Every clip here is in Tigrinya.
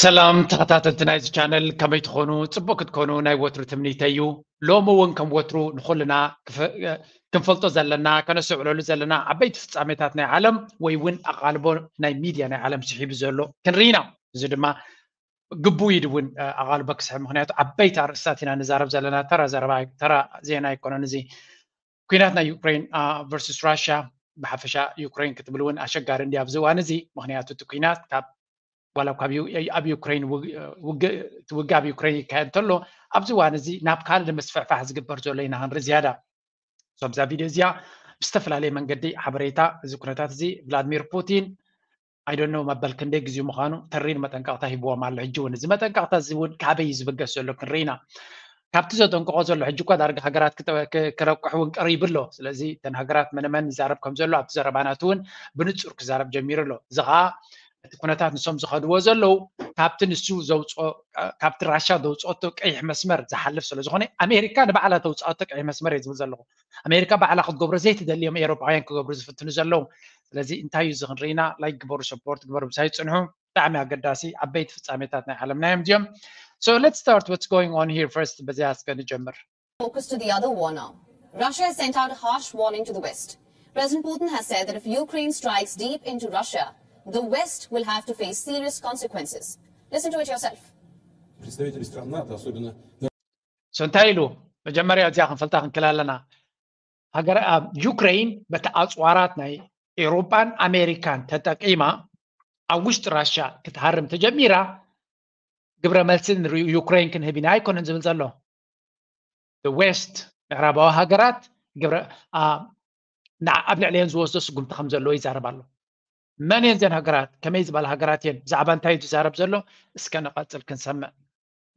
ሰላም ተኸታተልቲ ናይዚ ቻነል፣ ከመይ ትኾኑ? ጽቡቅ ክትኮኑ ናይ ወትሩ ትምኒተይ እዩ። ሎሚ እውን ከም ወትሩ ንኹልና ክንፈልጦ ዘለና፣ ከነስተውዕለሉ ዘለና ዓበይቲ ፍጻሜታት ናይ ዓለም ወይ እውን ኣቓልቦ ናይ ሚድያ ናይ ዓለም ስሒቡ ዘሎ ክንርኢ ኢና። እዚ ድማ ግቡእ እዩ እውን ኣቓልቦ ክስሕብ፣ ምኽንያቱ ዓበይቲ ኣርእስታት ኢና ንዛረብ ዘለና። ተራ ዘረባ፣ ተራ ዜና ኣይኮነን እዚ። ኲናት ናይ ዩክሬን ቨርሱስ ራሽያ፣ ብሓፈሻ ዩክሬን ክትብል እውን ኣሸጋሪ እንዲ ኣብዚ እዋን እዚ። ምኽንያቱ እቲ ኲናት ካብ ዋላ ካብ ኣብ ዩክሬን ውግእ ኣብ ዩክሬን ይካየድ እንተሎ፣ ኣብዚ እዋን እዚ ናብ ካልእ ንምስፍሕፋሕ ዝግበር ዘሎ ኢና ክንርኢ ዝያዳ። ሶብዛ ቪድዮ እዚኣ ብዝተፈላለየ መንገዲ ሓበሬታ እዚ ኩነታት እዚ ቭላድሚር ፑቲን ኣይዶኖ መበል ክንደይ ግዜኡ ምዃኑ ተሪር መጠንቀቕታ ሂብዎም ኣሎ። ሕጂ እውን እዚ መጠንቀቕታ እዚ እውን ካበይ እዩ ዝብገስ ዘሎ ክንርኢ ኢና። ካብቲ ዘጠንቅቖ ዘሎ ሕጂ እኳ ዳርጋ ሃገራት ክረቁሕ እውን ቀሪቡ ኣሎ። ስለዚ እተን ሃገራት መነመን ይዛረብ ከም ዘሎ ኣብቲ ዘረባናት እውን ብንጹር ክዛረብ ጀሚሩ ኣሎ። እዚ ከዓ እቲ ኩነታት ንሶም ዝኸድዎ ዘለዉ ካብቲ ንሱ ዘውፅኦ ካብቲ ራሻ ዘውፅኦቶ ቀይሕ መስመር ዝሓልፍ ስለ ዝኾነ ኣሜሪካ ንባዕላ ተውፅኣቶ ቀይሕ መስመር እየ ዝብል ዘለኹ። ኣሜሪካ ባዕላ ክትገብሮ ዘይትደልዮም ኤሮጳውያን ክገብሩ ዝፍትኑ ዘለዉ። ስለዚ እንታይ እዩ እዚ ክንርኢና ላይክ ግበሩ፣ ሰፖርት ግበሩ፣ ምሳይ ፅንሑ። ብጣዕሚ ኣገዳሲ ዓበይቲ ፍጻሜታት ናይ ዓለምና እዮም እዚኦም። So let's start what's going on here first. በዚያ እስከ ንጀምር። Focus to the other war now. Russia has sent out a harsh warning to the West. President Putin has said that if Ukraine strikes deep into Russia, the West will have to face serious consequences. Listen to it yourself. Представители стран НАТО, особенно So እንታይ ኢሉ? መጀመርያ እዚኣ ክንፈልጣ ክንክእል ኣለና። ሃገር ዩክሬን በቲ ኣፅዋራት ናይ ኤውሮጳን ኣሜሪካን ተጠቂማ ኣብ ውሽጢ ራሽያ ክትሃርም ተጀሚራ፣ ግብረ መልሲ ንዩክሬን ክንህብ ኢና ኣይኮነን ዝብል ዘሎ። ዌስት፣ ምዕራባዊ ሃገራት ግብረ ኣብ ልዕሊአን ዝወስዶ ስጉምቲ ከም ዘለዎ ይዛረብ ኣሎ። መን እየን እዘን ሃገራት? ከመይ ዝበላ ሃገራት እየን? ብዛዕባ እንታይ እዩ ዝዛረብ ዘሎ? እስከ ንቐጽል ክንሰምዕ።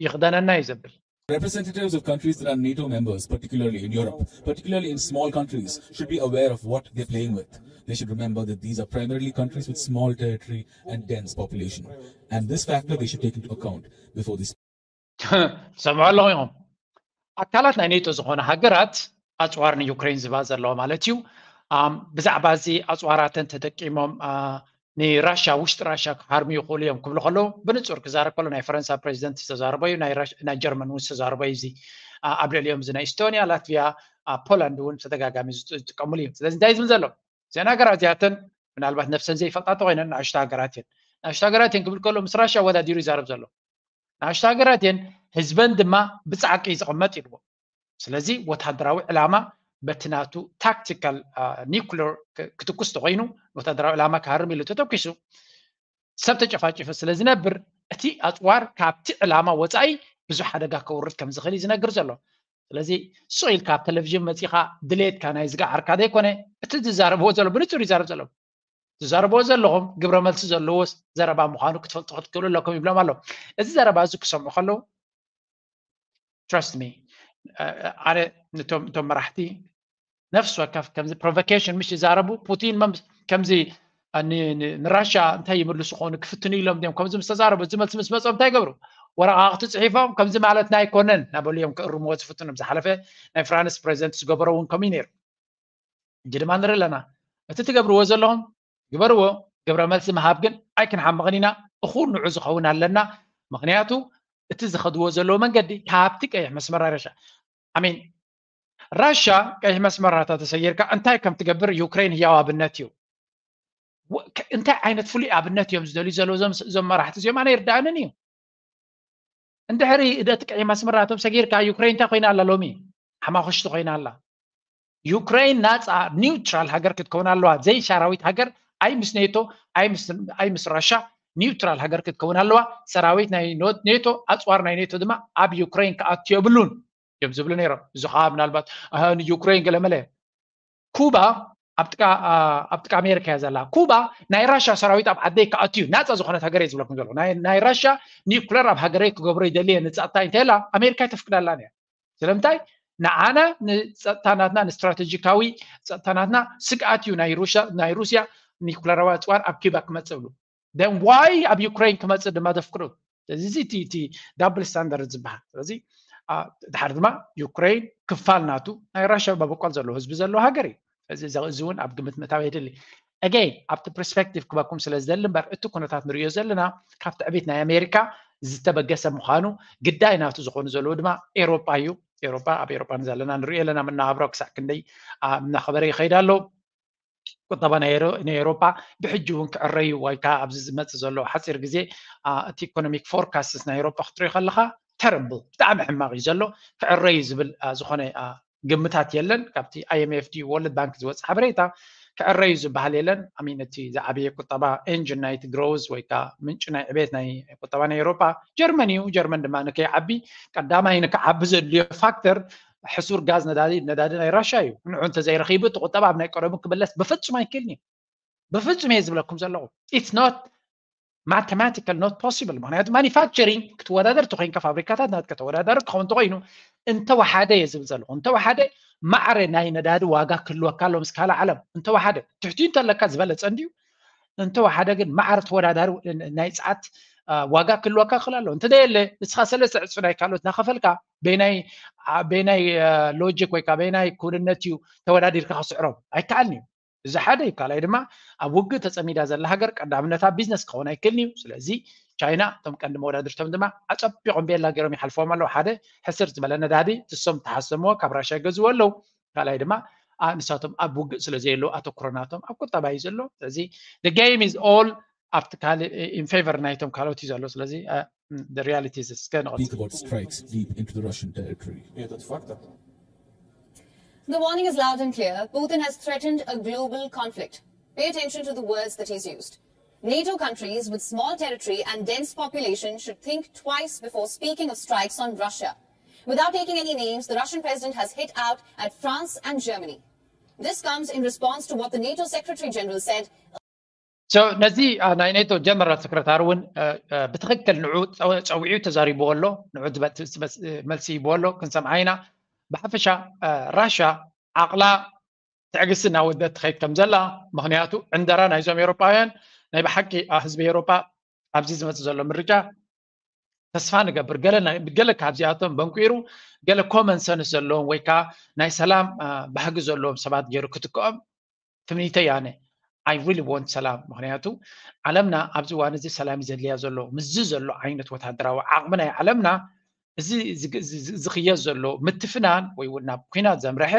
ይኽደነና እዩ ዘብል። Representatives of countries that are NATO members, particularly in Europe, particularly in small countries, should be aware of what they're playing with. They should remember that these are primarily countries with small territory and dense population. And this factor they should take into account before they ሰምዑ ኣለኹ ኢኹም። ኣካላት ናይ ኔቶ ዝኾነ ሃገራት ኣፅዋር ንዩክሬን ዝባ ዘለዋ ማለት እዩ። ብዛዕባ እዚ ኣፅዋራተን ተጠቂሞም ንራሻ ውሽጢ ራሻ ክሃርሙ ይኽእሉ እዮም ክብሉ ከለዉ ብንፁር ክዛረብ ከሎ ናይ ፈረንሳ ፕሬዚደንት ዝተዛረቦ እዩ። ናይ ጀርመን እውን ዝተዛረቦ እዩ። እዚ ኣብ ልዕሊኦም እዚ ናይ ኢስቶኒያ፣ ላትቪያ፣ ፖላንድ እውን ተደጋጋሚ ዝጥቀምሉ እዩ። ስለዚ እንታይ ዝብል ዘሎ እዘን ሃገራት እዚኣተን ምናልባት ነፍሰን ዘይፈልጣ ተኮይነን ንኣሽቱ ሃገራት እየን። ንኣሽቱ ሃገራት እየን ክብል ከሎ ምስ ራሻ ኣወዳዲሩ ይዛረብ ዘሎ። ንኣሽቱ ሃገራት እየን፣ ህዝበን ድማ ብፃዕቂ ዝቕመጥ ኢልዎ። ስለዚ ወታደራዊ ዕላማ በቲ ናቱ ታክቲካል ኒኩለር ክትኩስ ተኮይኑ ወታደራዊ ዕላማ ክሃርም ኢሉ ተተኪሱ ሰብ ተጨፋጭፉ ስለ ዝነብር እቲ ኣፅዋር ካብቲ ዕላማ ወፃኢ ብዙሕ ሓደጋ ከውርድ ከም ዝኽእል እዩ ዝነግር ዘሎ። ስለዚ ሱቕ ኢልካ ኣብ ቴሌቪዥን መፂኻ ድሌትካ ናይ ዝገዓርካ ዘይኮነ እቲ ዝዛረብዎ ዘሎ ብንፁር ይዛረብ ዘሎ። ትዛረብዎ ዘለኹም ግብረ መልሲ ዘለዎ ዘረባ ምዃኑ ክትፈልጡ ክትክእሉ ኣለኩም ይብሎም ኣሎ። እዚ ዘረባ እዚ ክሰምዑ ከለዉ trust me ኣነ ነቶም እቶም መራሕቲ ነፍሲ ወከፍ ከምዚ ፕሮቮኬሽን ምሽ ይዛረቡ ፑቲን ከምዚ ንራሻ እንታይ ይምልሱ ከሆኑ ክፍትኑ ኢሎም ም ከምዚ ምስ ተዛረቡ እዚ መልሲ ምስ መፅኦም እንታይ ይገብሩ? ወረቃቅቲ ፅሒፎም ከምዚ ማለትና ኣይኮነን ናበሉ እዮም ክእርምዎ ዝፍትኑ። ዝሓለፈ ናይ ፍራንስ ፕሬዚደንት ዝገበሮ እውን ከምኡ ነይሩ። ሕጂ ድማ ንርኢ ኣለና። እቲ ትገብርዎ ዘለኹም ግበርዎ። ግብረ መልሲ ምሃብ ግን ኣይክንሓምቕን ኢና። እኹል ንዑ ዝኸውን ኣለና። ምኽንያቱ እቲ ዝኸድዎ ዘለዉ መንገዲ ካብቲ ቀይሕ መስመር ራሻ ኣሚን ራሻ ቀይሕ መስመር ናታ ተሰጊርካ እንታይ ከም ትገብር ዩክሬን ህያው ኣብነት እዩ። እንታይ ዓይነት ፍሉይ ኣብነት እዮም ዝደልዩ ዘለዉ እዞም መራሕቲ እዚኦም ኣነ ይርዳእንን እዩ። እንድሕሪ እደቲ ቀይሕ መስመር ናቶም ሰጊርካ ዩክሬን እንታይ ኮይና ኣላ ሎሚ? ሓማኹሽቲ ኮይና ኣላ። ዩክሬን ናፃ ኒውትራል ሃገር ክትከውን ኣለዋ። ዘይ ሰራዊት ሃገር ኣይ ምስ ኔቶ ኣይ ምስ ራሻ ኒውትራል ሃገር ክትከውን ኣለዋ። ሰራዊት ናይ ኔቶ ኣፅዋር ናይ ኔቶ ድማ ኣብ ዩክሬን ክኣቱ የብሉን እዮም ዝብሉ ነይሮም። እዚ ከዓ ምናልባት ንዩክሬን ገለመለ ኩባ ኣብ ጥቃ ኣሜሪካ እያ ዘላ። ኩባ ናይ ራሻ ሰራዊት ኣብ ዓደይ ክኣቱ እዩ ናፃ ዝኾነት ሃገር እየ ዝብለኩም ዘለኹ። ናይ ራሻ ኒውክለር ኣብ ሃገረይ ክገብሮ ይደሊ እየ ንፃታ እንተላ ኣሜሪካ ኣይተፍቅዳላን እያ። ስለምንታይ? ንዓና ንፀጥታ ናትና ንስትራቴጂካዊ ፀጥታ ናትና ስግኣት እዩ ናይ ሩስያ ናይ ሩስያ ኒኩለራዊ ኣፅዋር ኣብ ኪባ ክመፅእ ብሉ then why ኣብ ዩክሬን ክመፅእ ድማ ዘፍቅዱ ስለዚ እቲ እቲ double standard ዝበሃል ስለዚ ድሓር ድማ ዩክሬን ክፋል ናቱ ናይ ራሽያ መበቆል ዘለዎ ህዝቢ ዘለዎ ሃገር እዩ እዚ እውን ኣብ ግምት ምእታው የድሊ again ኣብቲ perspective ክበኩም ስለ ዝደሊ እምበር እቲ ኩነታት ንሪኦ ዘለና ካብቲ ዕቤት ናይ ኣሜሪካ ዝተበገሰ ምዃኑ ግዳይ ናቱ ዝኾኑ ዘለዉ ድማ ኤሮጳ እዩ ኤሮጳ ኣብ ኤሮጳ ንዘለና ንሪኦ ኣለና መናባብሮ ክሳዕ ክንደይ እናኸበረ ይኸይድ ኣሎ ቁጠባ ናይ ኤሮፓ ብሕጂ እውን ክዕረዩ ወይ ከዓ ኣብዚ ዝመፅእ ዘሎ ሓፂር ግዜ እቲ economic forecast ናይ ኤሮፓ ክትሪኦ ከለካ terrible ብጣዕሚ ሕማቅ እዩ ዘሎ ክዕረዩ ዝብል ዝኾነ ግምታት የለን ካብቲ IMF ድዩ World Bank ዝወፅእ ሓበሬታ ክዕረዩ ዝበሃል የለን ኣሚን እቲ ዝዓበየ ቁጠባ engine ናይቲ growth ወይ ከዓ ምንጪ ናይ ዕቤት ናይ ቁጠባ ናይ ኤሮፓ ጀርመን እዩ ጀርመን ድማ ንከይዓቢ ቀዳማይ ንክዓቢ ዘድልዮ factor ሕሱር ጋዝ ነዳዲ ነዳዲ ናይ ራሻ እዩ ንዑ እንተዘይረኺቡ እቲ ቁጠባ ኣብ ናይ ቀደሙ ክምለስ ብፍጹም ኣይክእልን እዩ ብፍጹም እየ ዝብለኩም ዘለኹ it's not mathematical not possible ምክንያቱ manufacturing ክትወዳደር ተኮይንካ ፋብሪካታት ናትካ ተወዳዳሪ ክኸውን ተኮይኑ እንተወሓደ እየ ዝብል ዘለኹ እንተወሓደ ማዕረ ናይ ነዳዲ ዋጋ ክህልወካ ኣሎ ምስ ካልእ ዓለም እንተወሓደ ትሕቲኡ እንተለካ ዝበለፀ እንድዩ እንተወሓደ ግን ማዕረ ተወዳዳሪ ናይ ፀዓት ዋጋ ክህልወካ ክእል ኣሎ እንተደየለ ንስኻ ሰለስተ ዕፅፊ ናይ ካልኦት እናኸፈልካ በናይ በናይ logic ወይ ከዓ በናይ ክውንነት እዩ ተወዳዲርካ ክስዕሮም ኣይከኣልን እዩ እዚ ሓደ እዩ ካልኣይ ድማ ኣብ ውግእ ተፀሚዳ ዘላ ሃገር ቀዳምነታ ቢዝነስ ክኸውን ኣይክእልን እዩ ስለዚ ቻይና እቶም ቀንዲ መወዳድርቶም ድማ ኣፀቢቆም ቤላ ገይሮም ይሓልፎም ኣለዉ ሓደ ሕስር ዝበለ ነዳዲ ትሶም ተሓሰምዎ ካብ ራሻ ይገዝዎ ኣለዉ ካልኣይ ድማ ንሳቶም ኣብ ውግእ ስለ ዘየለዉ ኣተኩሮ ናቶም ኣብ ቁጠባ እዩ ዘሎ ስለዚ game is all ኣብቲ ካልእ in favor ናይቶም ካልኦት እዩ ዘሎ ስለዚ the reality is እስከ ንቐጽል Picobot strikes deep into the Russian territory. Этот фактор. The warning is loud and clear. Putin has threatened a global conflict. Pay attention to the words that he's used. NATO countries with small territory and dense population should think twice before speaking of strikes on Russia. Without taking any names, the Russian president has hit out at France and Germany. This comes in response to what the NATO Secretary General said ነዚ ናይ ኔቶ ጀነራል ሰክረታሪ እውን ብትክክል ንዑ ፀዊዑ ተዛሪብዎ ኣሎ ንዑ መልሲ ይብዎ ኣሎ ክንሰምዓ ኢና ብሓፈሻ ራሻ ዓቕላ ትዕግስቲ እናወደት ትኸይድ ከም ዘላ ምክንያቱ ዕንደራ ናይዞም ኤሮፓውያን ናይ ብሓቂ ህዝቢ ኤሮፓ ኣብዚ ዝመፅእ ዘሎ ምርጫ ተስፋ ንገብር ገለ ካብዚኣቶም በንቂሩ ገለ common sense ዘለዎም ወይ ከዓ ናይ ሰላም ባህጊ ዘለዎም ሰባት ገይሩ ክትክኦም ትምኒተይ ኣነ I really want ሰላም ምክንያቱ ዓለምና ኣብዚ እዋን እዚ ሰላም እዩ ዘድልያ ዘሎ ምስዚ ዘሎ ዓይነት ወታደራዊ ዓቕሚ ናይ ዓለምና እዚ ዝኽየስ ዘሎ ምትፍናን ወይ እውን ናብ ኩናት ዘምረሐ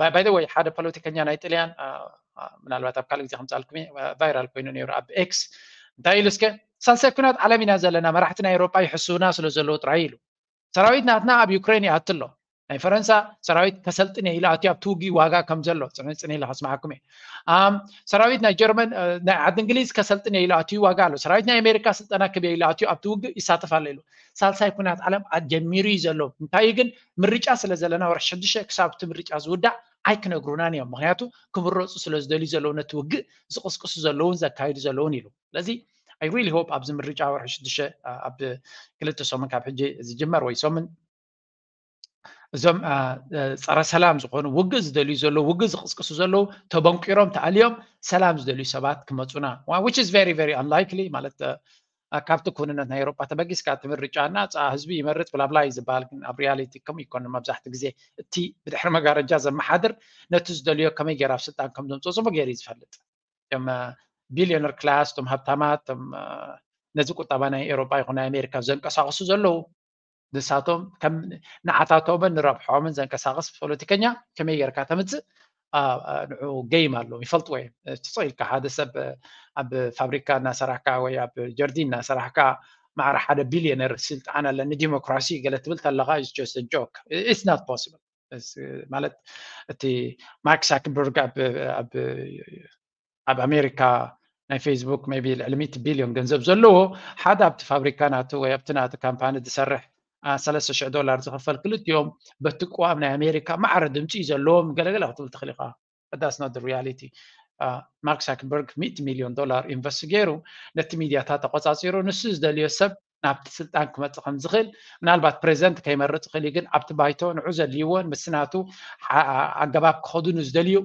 by the way ሓደ ፖለቲከኛ ናይ ጥልያን ምናልባት ኣብ ካልእ ግዜ ከምፃልኩም viral ኮይኑ ነይሩ ኣብ X እንታይ ኢሉ እስከ ሳልሳይ ኩናት ዓለም ኢና ዘለና መራሕቲ ናይ ኤሮፓ ይሕስውና ስለ ዘለዉ ጥራይ ኢሉ ሰራዊት ናትና ኣብ ዩክሬን ይኣቱ ኣሎ ናይ ፈረንሳ ሰራዊት ከሰልጥን እየ ኢሉ ኣትዩ ኣብቲ ውግእ ዋጋ ከም ዘሎ ፅንፅን ኢለ ከስማዓኩም እየ ሰራዊት ናይ ጀርመን ናይ ዓዲ እንግሊዝ ከሰልጥን እየ ኢሉ ኣትዩ ዋጋ ኣሎ ሰራዊት ናይ ኣሜሪካ ስልጠና ክብ ኢሉ ኣትዩ ኣብቲ ውግእ ይሳተፍ ኣሎ ኢሉ ሳልሳይ ኩናት ዓለም ጀሚሩ እዩ ዘሎ እንታይ ግን ምርጫ ስለ ዘለና ወርሒ ሽዱሽተ ክሳብ እቲ ምርጫ ዝውዳእ ኣይክነግሩናን እዮም ምክንያቱ ክምረፁ ስለ ዝደልዩ ዘለዉ ነቲ ውግእ ዝቅስቅሱ ዘለውን ዘካይዱ ዘለውን ኢሉ ስለዚ I really hope ኣብዚ ምርጫ ወርሒ ሽዱሽተ ኣብ ክልተ ሰሙን ካብ ሕጂ ዝጅመር ወይ ሰሙን እዞም ፀረ ሰላም ዝኾኑ ውግእ ዝደልዩ ዘለዉ ውግእ ዝቅስቅሱ ዘለዉ ተበንቂሮም ተኣልዮም ሰላም ዝደልዩ ሰባት ክመፁና which is very very unlikely ማለት ካብቲ ክውንነት ናይ ኤሮፓ ተበጊስካ እቲ ምርጫ እና ፃ ህዝቢ ይመርፅ ብላብላ እዩ ዝበሃል ግን ኣብ reality ከም ይኮኑ መብዛሕቲ ግዜ እቲ ብድሕሪ መጋረጃ ዘመሓድር ነቲ ዝደልዮ ከመይ ገይራ ኣብ ስልጣን ከም ዘምፅኦ ፅቡቅ ገይሩ እዩ ዝፈልጥ እቶም billionaire class እቶም ሃብታማት እቶም ነዚ ቁጠባ ናይ ኤሮፓ ይኹን ናይ ኣሜሪካ ዘንቀሳቅሱ ዘለዉ ንሳቶም ከም ንዓታቶምን ንረብሖምን ዘንቀሳቅስ ፖለቲከኛ ከመይ ጌርካ ተምፅእ ንዑ game ኣለዎም ይፈልጥዎ እዮም ትፅቕ ኢልካ ሓደ ሰብ ኣብ ፋብሪካ እናሰራሕካ ወይ ኣብ ጀርዲን እናሰራሕካ ማዕረ ሓደ billionaire ስልጣን ኣለኒ ዲሞክራሲ ገለ ትብል ተለካ is just a joke it's not possible ማለት እቲ Mark Zuckerberg ኣብ ኣብ ኣሜሪካ ናይ Facebook maybe ልዕሊ ሚእቲ ቢልዮን ገንዘብ ዘለዎ ሓደ ኣብቲ ፋብሪካ ናቱ ወይ ኣብቲ ናቱ ካምፓኒ ዝሰርሕ ሰለስተ ሽሕ ዶላር ዝኽፈል ክልቲኦም በቲ ቅዋም ናይ ኣሜሪካ ማዕረ ድምፂ እዩ ዘለዎም ገለገለ ክትብል ትኽእል ኢኻ that's not the reality Mark Zuckerberg ሚእቲ ሚልዮን ዶላር invest ገይሩ ነቲ ሚድያታት ተቆፃፂሩ ንሱ ዝደልዮ ሰብ ናብቲ ስልጣን ክመፅእ ከም ዝኽእል፣ ምናልባት ፕሬዚደንት ከይመርፅ ይኽእል እዩ፣ ግን ኣብቲ ባይቶ ንዑ ዘድልይዎ፣ ምስናቱ ኣገባብ ክኸዱ ንዝደልዩ፣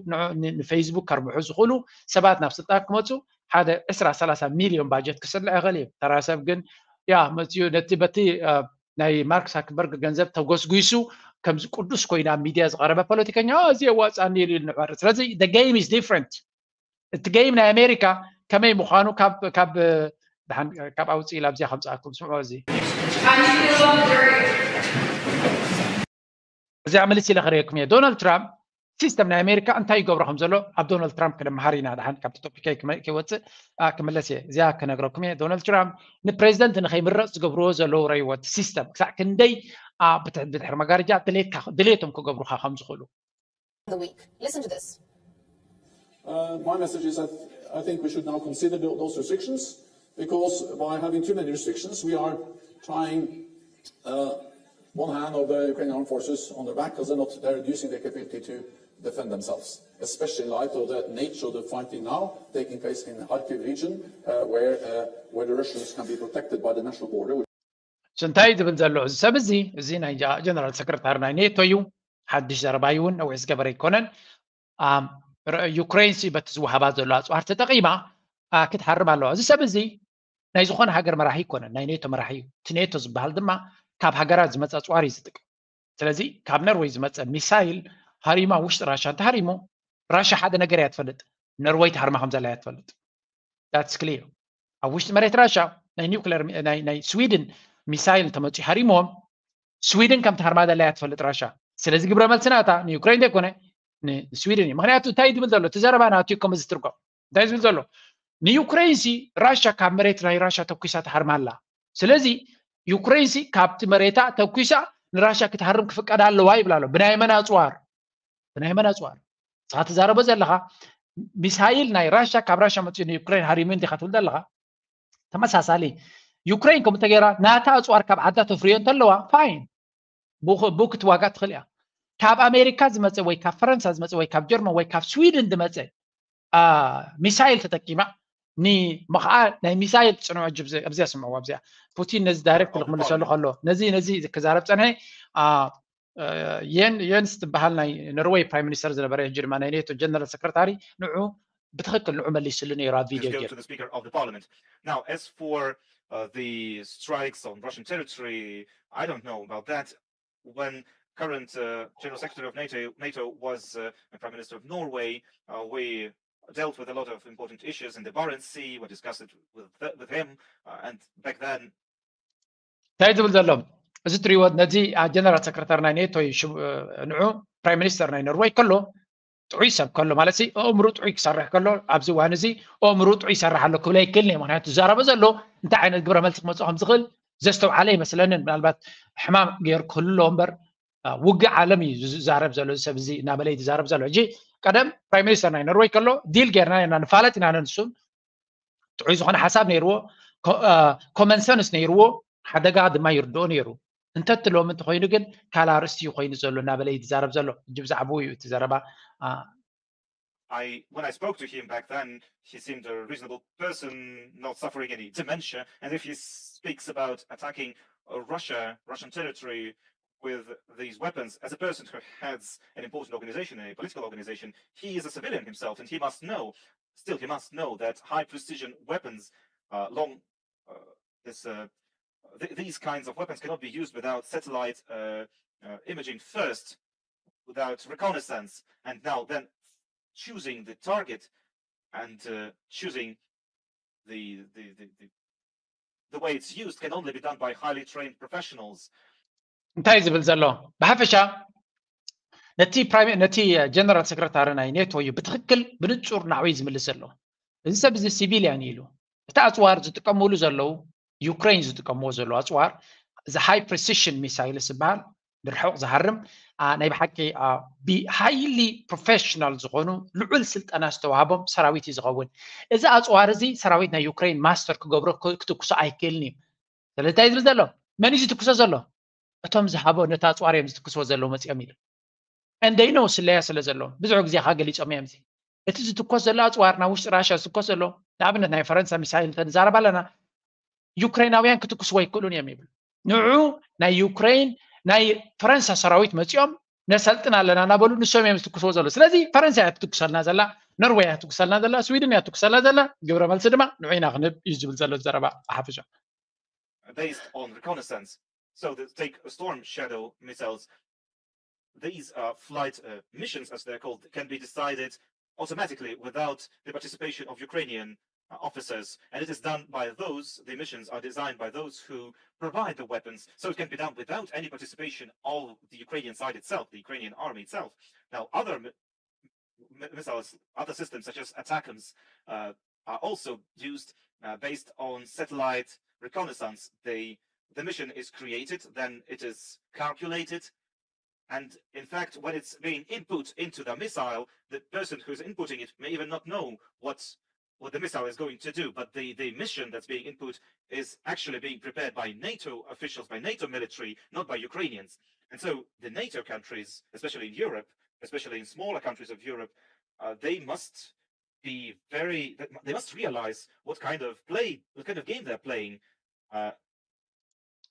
ንፌስቡክ ከርብሑ ዝኽእሉ ሰባት ናብ ስልጣን ክመፁ ሓደ ዕስራ ሰላሳ ሚሊዮን ባጀት ክስልዕ ይኽእል እዩ። ተራ ሰብ ግን ያ መፅኡ ነቲ በቲ ናይ ማርክ ሳክበርግ ገንዘብ ተጎስጒሱ ከምዚ ቅዱስ ኮይኑ ኣብ ሚድያ ዝቐረበ ፖለቲከኛ እዚ የዋፅኣኒ ኢሉ ንዕበር። ስለዚ game is different። እቲ game ናይ ኣሜሪካ ከመይ ምዃኑ ካብ ካብ ደሓን ካብ ኣውፅእ ኢላ ኣብዚኣ ከምፅኣኩም ስምዑ። እዚ እዚኣ ምልስ ኢለ ክርእየኩም እየ። ዶናልድ ትራምፕ ሲስተም ናይ ኣሜሪካ እንታይ ይገብሮ ከም ዘሎ ኣብ ዶናልድ ትራምፕ ክነምሃር ኢና። ደሓን ካብቲ ቶፒከይ ክመ- ከይወፅእ ኣ፣ ክምለስ እየ። እዚኣ ክነግረኩም እየ። ዶናልድ ትራምፕ ንፕሬዚደንት ንኸይምረፅ ዝገብርዎ ዘለዉ ረይወት ሲስተም ክሳዕ ክንደይ ኣ፣ ብትሕ- ብድሕሪ መጋረጃ ድሌትካ ድሌቶም ክገብሩካ ከም ዝኽእሉ the week. Listen to this. Uh, my message is that I think we should now consider tho- those restrictions because by having too many restrictions, we are tying uh, one hand of the Ukrainian armed forces on their back because they're not, they're reducing their capability to defend themselves, especially in light of the nature of the fighting now taking place in the Kharkiv region, uh, where, uh, where the Russians can be protected by the national border. እንታይ ዝብል ዘሎ እዚ ሰብ እዚ? እዚ ናይ ጀነራል ሰክረታሪ ናይ ኔቶ እዩ። ሓድሽ ዘረባ እዩ እውን ነዊሕ ዝገበረ ኣይኮነን። ዩክሬን ሲ በቲ ዝወሃባ ዘሎ ኣፅዋር ተጠቂማ ክትሃርም ኣለዋ። እዚ ሰብ እዚ ናይ ዝኾነ ሃገር መራሒ ኣይኮነን፣ ናይ ኔቶ መራሒ እዩ። እቲ ኔቶ ዝበሃል ድማ ካብ ሃገራት ዝመፀ ኣፅዋር እዩ ዝጥቀም። ስለዚ ካብ ነርወይ ዝመፀ ሚሳይል ሃሪማ ውሽጢ ራሻ እንተሃሪሙ ራሻ ሓደ ነገር እያ ትፈልጥ፣ ነርወይ ትሃርማ ከም ዘላ እያ ትፈልጥ። That's clear። ኣብ ውሽጢ መሬት ራሻ ናይ ኒውክለር ናይ ስዊድን ሚሳይል እንተመፅኡ ሃሪምዎም ስዊድን ከም ትሃርማ ዘላ እያ ትፈልጥ ራሻ። ስለዚ ግብረ መልሲ ናታ ንዩክሬን ዘይኮነ ንስዊድን እዩ። ምክንያቱ እንታይ ዝብል ዘሎ እቲ ዘረባ ናቱ እዩ ከምዚ ዝትርጎም እንታይ ዝብል ዘሎ ንዩክሬን ሲ ራሻ ካብ መሬት ናይ ራሻ ተኩሳ ትሃርማ ኣላ። ስለዚ ዩክሬን ሲ ካብቲ መሬታ ተኩሳ ንራሻ ክትሃርም ክፍቀድ ኣለዋ ይብል ኣሎ። ብናይ መን ኣፅዋር? ብናይ መን ኣፅዋር? ንስኻ ትዛረቦ ዘለኻ ሚሳይል ናይ ራሻ ካብ ራሻ መፅኡ ንዩክሬን ሃሪሙ እንዲኻ ትብል ዘለኻ። ተመሳሳሊ ዩክሬን ከምኡ እንተገይራ ናታ ኣፅዋር ካብ ዓዳ ተፍርዮ እንተለዋ ፋይን ብኡ ክትዋጋእ ትኽእል እያ። ካብ ኣሜሪካ ዝመፀ ወይ ካብ ፈረንሳ ዝመፀ ወይ ካብ ጀርመን ወይ ካብ ስዊድን ዝመፀ ሚሳይል ተጠቂማ ንመኽዓ ናይ ሚሳይል ፅንዖ እጅ ኣብዚኣ ስምዕዋ ኣብዚኣ ፑቲን ነዚ ዳይሬክት ክምልሰሉ ከሎ ነዚ ነዚ ክዛረብ ፀንሐ የን የንስ ዝበሃል ናይ ኖርወይ ፕራይም ሚኒስተር ዝነበረ ሕጂ ድማ ናይ ኔቶ ጀነራል ሰክረታሪ ንዑ ብትኽክል ንዑ መሊስሉ ነይሩ ኣብ ቪድዮ Now, as for uh, the strikes on Russian territory, I don't know about that. When current uh, General Secretary of NATO, NATO was uh, the Prime Minister of Norway, uh, we dealt with a lot of important issues in the Barents Sea. We discussed it with, th- with him, uh, and back then እንታይ ዝብል ዘሎ እዚ ትሪእዎ ነዚ ጀነራል ሰክረታሪ ናይ ኔቶ እዩ። ንዑ ፕራይም ሚኒስተር ናይ ኖርወይ ከሎ ጥዑይ ሰብ ከሎ ማለት ኣእምሩ ጥዑይ ክሰርሕ ከሎ ኣብዚ እዋን እዚ ኣእምሩ ጥዑይ ይሰርሕ ኣሎ ክብል ኣይክእልን እየ። ምክንያቱ ዝዛረቦ ዘሎ እንታይ ዓይነት ግብረ መልሲ ክመፅእ ከም ዝኽእል ዘስተውዓለ ይመስለንን። ምናልባት ሕማም ገይሩ ክህሉ ኣለዎ እምበር ውግእ ዓለም እዩ ዝዛረብ ዘሎ እዚ ሰብ እዚ እናበለ እዩ ዝዛረብ ዘሎ። ሕጂ ቀደም ፕራይም ሚኒስተር ናይ ኖርወይ ከሎ ዲል ጌርና ኢና ንፋለጥ ኢና ነንሱን ጥዑይ ዝኾነ ሓሳብ ነይርዎ፣ ኮመን ሰንስ ነይርዎ፣ ሓደጋ ድማ ይርድኦ ነይሩ። እንተቲ ሎሚ እንተኮይኑ ግን ካልእ ኣርእስቲ እዩ ኮይኑ ዘሎ እናበለ እዩ ዝዛረብ ዘሎ። ሕጂ ብዛዕባኡ እዩ እቲ ዘረባ። I, when I spoke to him back then, he seemed a reasonable person, not suffering any dementia. And if he speaks about attacking uh, Russia, Russian territory with these weapons, as a person who heads an important organization, a political organization, he is a civilian himself, and he must know, still, he must know that high precision weapons, uh, long, uh, this, uh, th- these kinds of weapons cannot be used without satellite uh, uh, imaging first, without reconnaissance, and now then choosing the target and uh, choosing the, the, the, the, the way it's used can only be done by highly trained professionals. እንታይ ዝብል ዘሎ ብሓፈሻ ነቲ ነቲ ጀነራል ሰክረታሪ ናይ ኔቶ እዩ ብትክክል ብንፁር ናዕበይ ዝምልስ ዘሎ። እዚ ሰብ እዚ ሲቪልያን ኢሉ እቲ ኣፅዋር ዝጥቀምሉ ዘለዉ ዩክሬን ዝጥቀምዎ ዘለዉ ኣፅዋር እዚ ሃይ ፕሪሲሽን ሚሳይልስ ዝበሃል ንርሑቕ ዝሃርም ናይ ብሓቂ ብሃይሊ ፕሮፌሽናል ዝኾኑ ልዑል ስልጠና ዝተዋህቦም ሰራዊት እዩ ዝኸውን። እዚ ኣፅዋር እዚ ሰራዊት ናይ ዩክሬን ማስተር ክገብሮ ክትኩሶ ኣይክእልን እዩ። ስለዚ እንታይ ዝብል ዘሎ መን እዩ ዝትኩሶ ዘሎ? እቶም ዝሃቦ ነቲ ኣፅዋር እዮም ዝትኩስዎ ዘለዉ መፂኦም ኢሉ። And they know ስለያ ስለ ዘለዎም ብዙሕ ግዜ ከዓ ገሊፆም እዮም። እዚ እቲ ዝትኮስ ዘሎ ኣፅዋር ናብ ውሽጢ ራሽያ ዝትኮስ ዘሎ ንኣብነት ናይ ፈረንሳ ሚሳይል እንተንዛረብ ኣለና ዩክሬናውያን ክትኩስዎ ኣይክእሉን እዮም ይብል። ንዑ ናይ ዩክሬን ናይ ፈረንሳ ሰራዊት መፂኦም ነሰልጥን ኣለና እናበሉ ንሶም እዮም ዝትኩስዎ ዘሎ። ስለዚ ፈረንሳ እያ ትትኩሰልና ዘላ፣ ኖርወይ እያ ትትኩሰልና ዘላ፣ ስዊድን እያ ትትኩሰልና ዘላ፣ ግብረ መልሲ ድማ ንዑ ኢና ክንህብ እዩ ዝብል ዘሎ ዘረባ ብሓፈሻ። Based on reconnaissance. So the, take Storm Shadow missiles. These uh, flight uh, missions, as they're called, can be decided automatically without the participation of Ukrainian uh, officers. And it is done by those, the missions are designed by those who provide the weapons. So it can be done without any participation of the Ukrainian side itself, the Ukrainian army itself. Now, other mi- mi- missiles, other systems such as ATACMS, uh, are also used uh, based on satellite reconnaissance. They, the mission is created, then it is calculated, and in fact, when it's being input into the missile, the person who's inputting it may even not know what what the missile is going to do. But the, the mission that's being input is actually being prepared by NATO officials, by NATO military, not by Ukrainians. And so the NATO countries, especially in Europe, especially in smaller countries of Europe, uh, they must be very, they must realize what kind of play, what kind of game they're playing. Uh,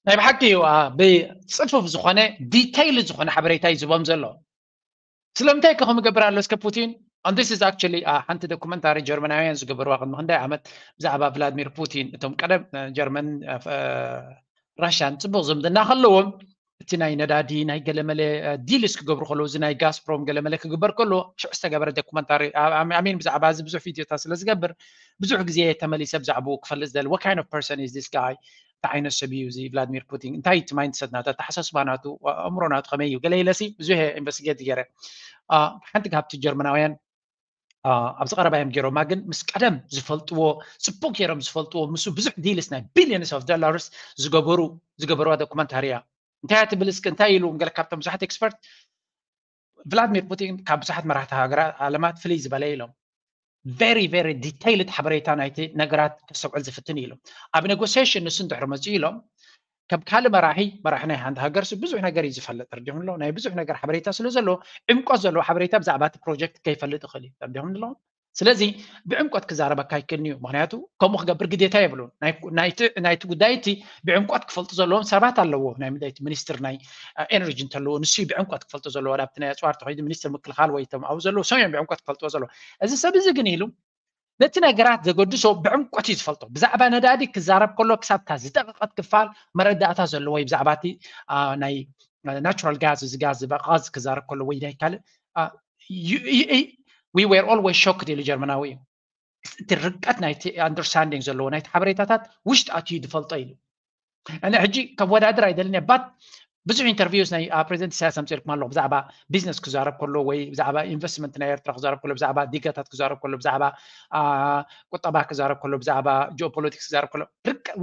ናይ ብሓቂ እዩ። ብፅፉፍ ዝኾነ ዲቴይል ዝኾነ ሓበሬታ እዩ ዝቦም ዘሎ። ስለምንታይ ከ ከምገብር ኣሎ እስከ ፑቲን? And this is actually ሓንቲ ዶኩመንታሪ ጀርመናውያን ዝገበርዋ ቅድሚ ክንደይ ዓመት ብዛዕባ ቭላድሚር ፑቲን፣ እቶም ቀደም ጀርመን ራሽያን ፅቡቅ ዝምድና ከለዎም፣ እቲ ናይ ነዳዲ ናይ ገለመለ ዲልስ ክገብሩ ከለዉ፣ እዚ ናይ ጋስፕሮም ገለመለ ክግበር ከሎ ሽዑ ዝተገበረ ዶኩመንታሪ፣ ኣሚን ብዛዕባ እዚ ብዙሕ ቪድዮታት ስለ ዝገብር ብዙሕ ግዜ ተመሊሰ ብዛዕባኡ ክፈልጥ ዝደሊ። What kind of person is this guy? እንታይ ዓይነት ሰብ እዩ እዚ ቭላድሚር ፑቲን? እንታይ እቲ ማይንድሰት ናቱ፣ ኣተሓሳስባ ናቱ፣ ኣእምሮ ናቱ ከመይ እዩ? ገለ ኢለሲ ብዙሕ ኢንቨስቲጌት ገይረ። ሓንቲ ካብቲ ጀርመናውያን ኣብዚ ቀረባ እዮም ገይሮማ፣ ግን ምስ ቀደም ዝፈልጥዎ፣ ፅቡቅ ገይሮም ዝፈልጥዎ፣ ምስ ብዙሕ ዲልስ ናይ ቢሊዮንስ ኦፍ ዶላርስ ዝገበሩ ዝገበርዋ ዶኩመንታሪ እያ። እንታይ እያ ትብል እስኪ? እንታይ ኢሉ? ገለ ካብቶም ብዙሓት ኤክስፐርት፣ ቭላድሚር ፑቲን ካብ ብዙሓት መራሕቲ ሃገራት ዓለማት ፍልይ ዝበለ ኢሎም። ቨሪ ቨሪ ዲቴይልድ ሓበሬታ ናይቲ ነገራት ከስተውዕል ዝፍትን ኢሉ። ኣብ ኔጎሲሽን ንሱ እንድሕር መፅኡ ኢሎም፣ ከም ካልእ መራሒ፣ መራሒ ናይ ሓንቲ ሃገር ብዙሕ ነገር እዩ ዝፈልጥ፣ ተረዲኹም ኣሎ። ናይ ብዙሕ ነገር ሓበሬታ ስለ ዘለዎ፣ ዕምቆት ዘለዎ ሓበሬታ ብዛዕባ እቲ ፕሮጀክት ከይፈልጥ ይኽእል እዩ፣ ተረዲኹም ኣሎ። ስለዚ ብዕምቆት ክዛረበካ ኣይክእልን እዩ፣ ምክንያቱ ከምኡ ክገብር ግዴታ የብሉን። ናይቲ ጉዳይ እቲ ብዕምቆት ክፈልጡ ዘለዎም ሰባት ኣለዎ። ናይ ምድይቲ ሚኒስትር ናይ ኤነርጂ እንተለዎ፣ ንሱ እዩ ብዕምቆት ክፈልጡ ዘለዎ። ኣብቲ ናይ ኣፅዋር ተኸይዱ ሚኒስትር ምክልኻል ወይ እቶም ኣብኡ ዘለዉ ሰብ እዮም ብዕምቆት ክፈልጥዎ ዘለዎ። እዚ ሰብ እዚ ግን ኢሉ ነቲ ነገራት ዘገድሶ ብዕምቆት እዩ ዝፈልጦ። ብዛዕባ ነዳዲ ክዛረብ ከሎ ክሳብ እታ ዝደቐቐት ክፋል መረዳእታ ዘለዎ እዩ። ብዛዕባ እቲ ናይ ናቹራል ጋዝ፣ እዚ ጋዝ፣ ጋዝ ክዛረብ ከሎ ወይ ናይ ካልእ we were always shocked ኢሉ ጀርመናዊ እዩ። እቲ ርቀት ናይቲ ኣንደርስታንዲንግ ዘለዎ ናይቲ ሓበሬታታት ውሽጢ ኣትዩ ዝፈልጦ ኢሉ። ኣነ ሕጂ ከወዳድር ኣይደልን እየ፣ ባት ብዙሕ ኢንተርቪውስ ናይ ፕሬዚደንት ኢሳያስ ኣምፅልኩም ኣለኹ። ብዛዕባ ቢዝነስ ክዛረብ ከሎ ወይ ብዛዕባ ኢንቨስትመንት ናይ ኤርትራ ክዛረብ ከሎ፣ ብዛዕባ ዲጋታት ክዛረብ ከሎ፣ ብዛዕባ ቁጠባ ክዛረብ ከሎ፣ ብዛዕባ ጂኦፖለቲክስ ክዛረብ ከሎ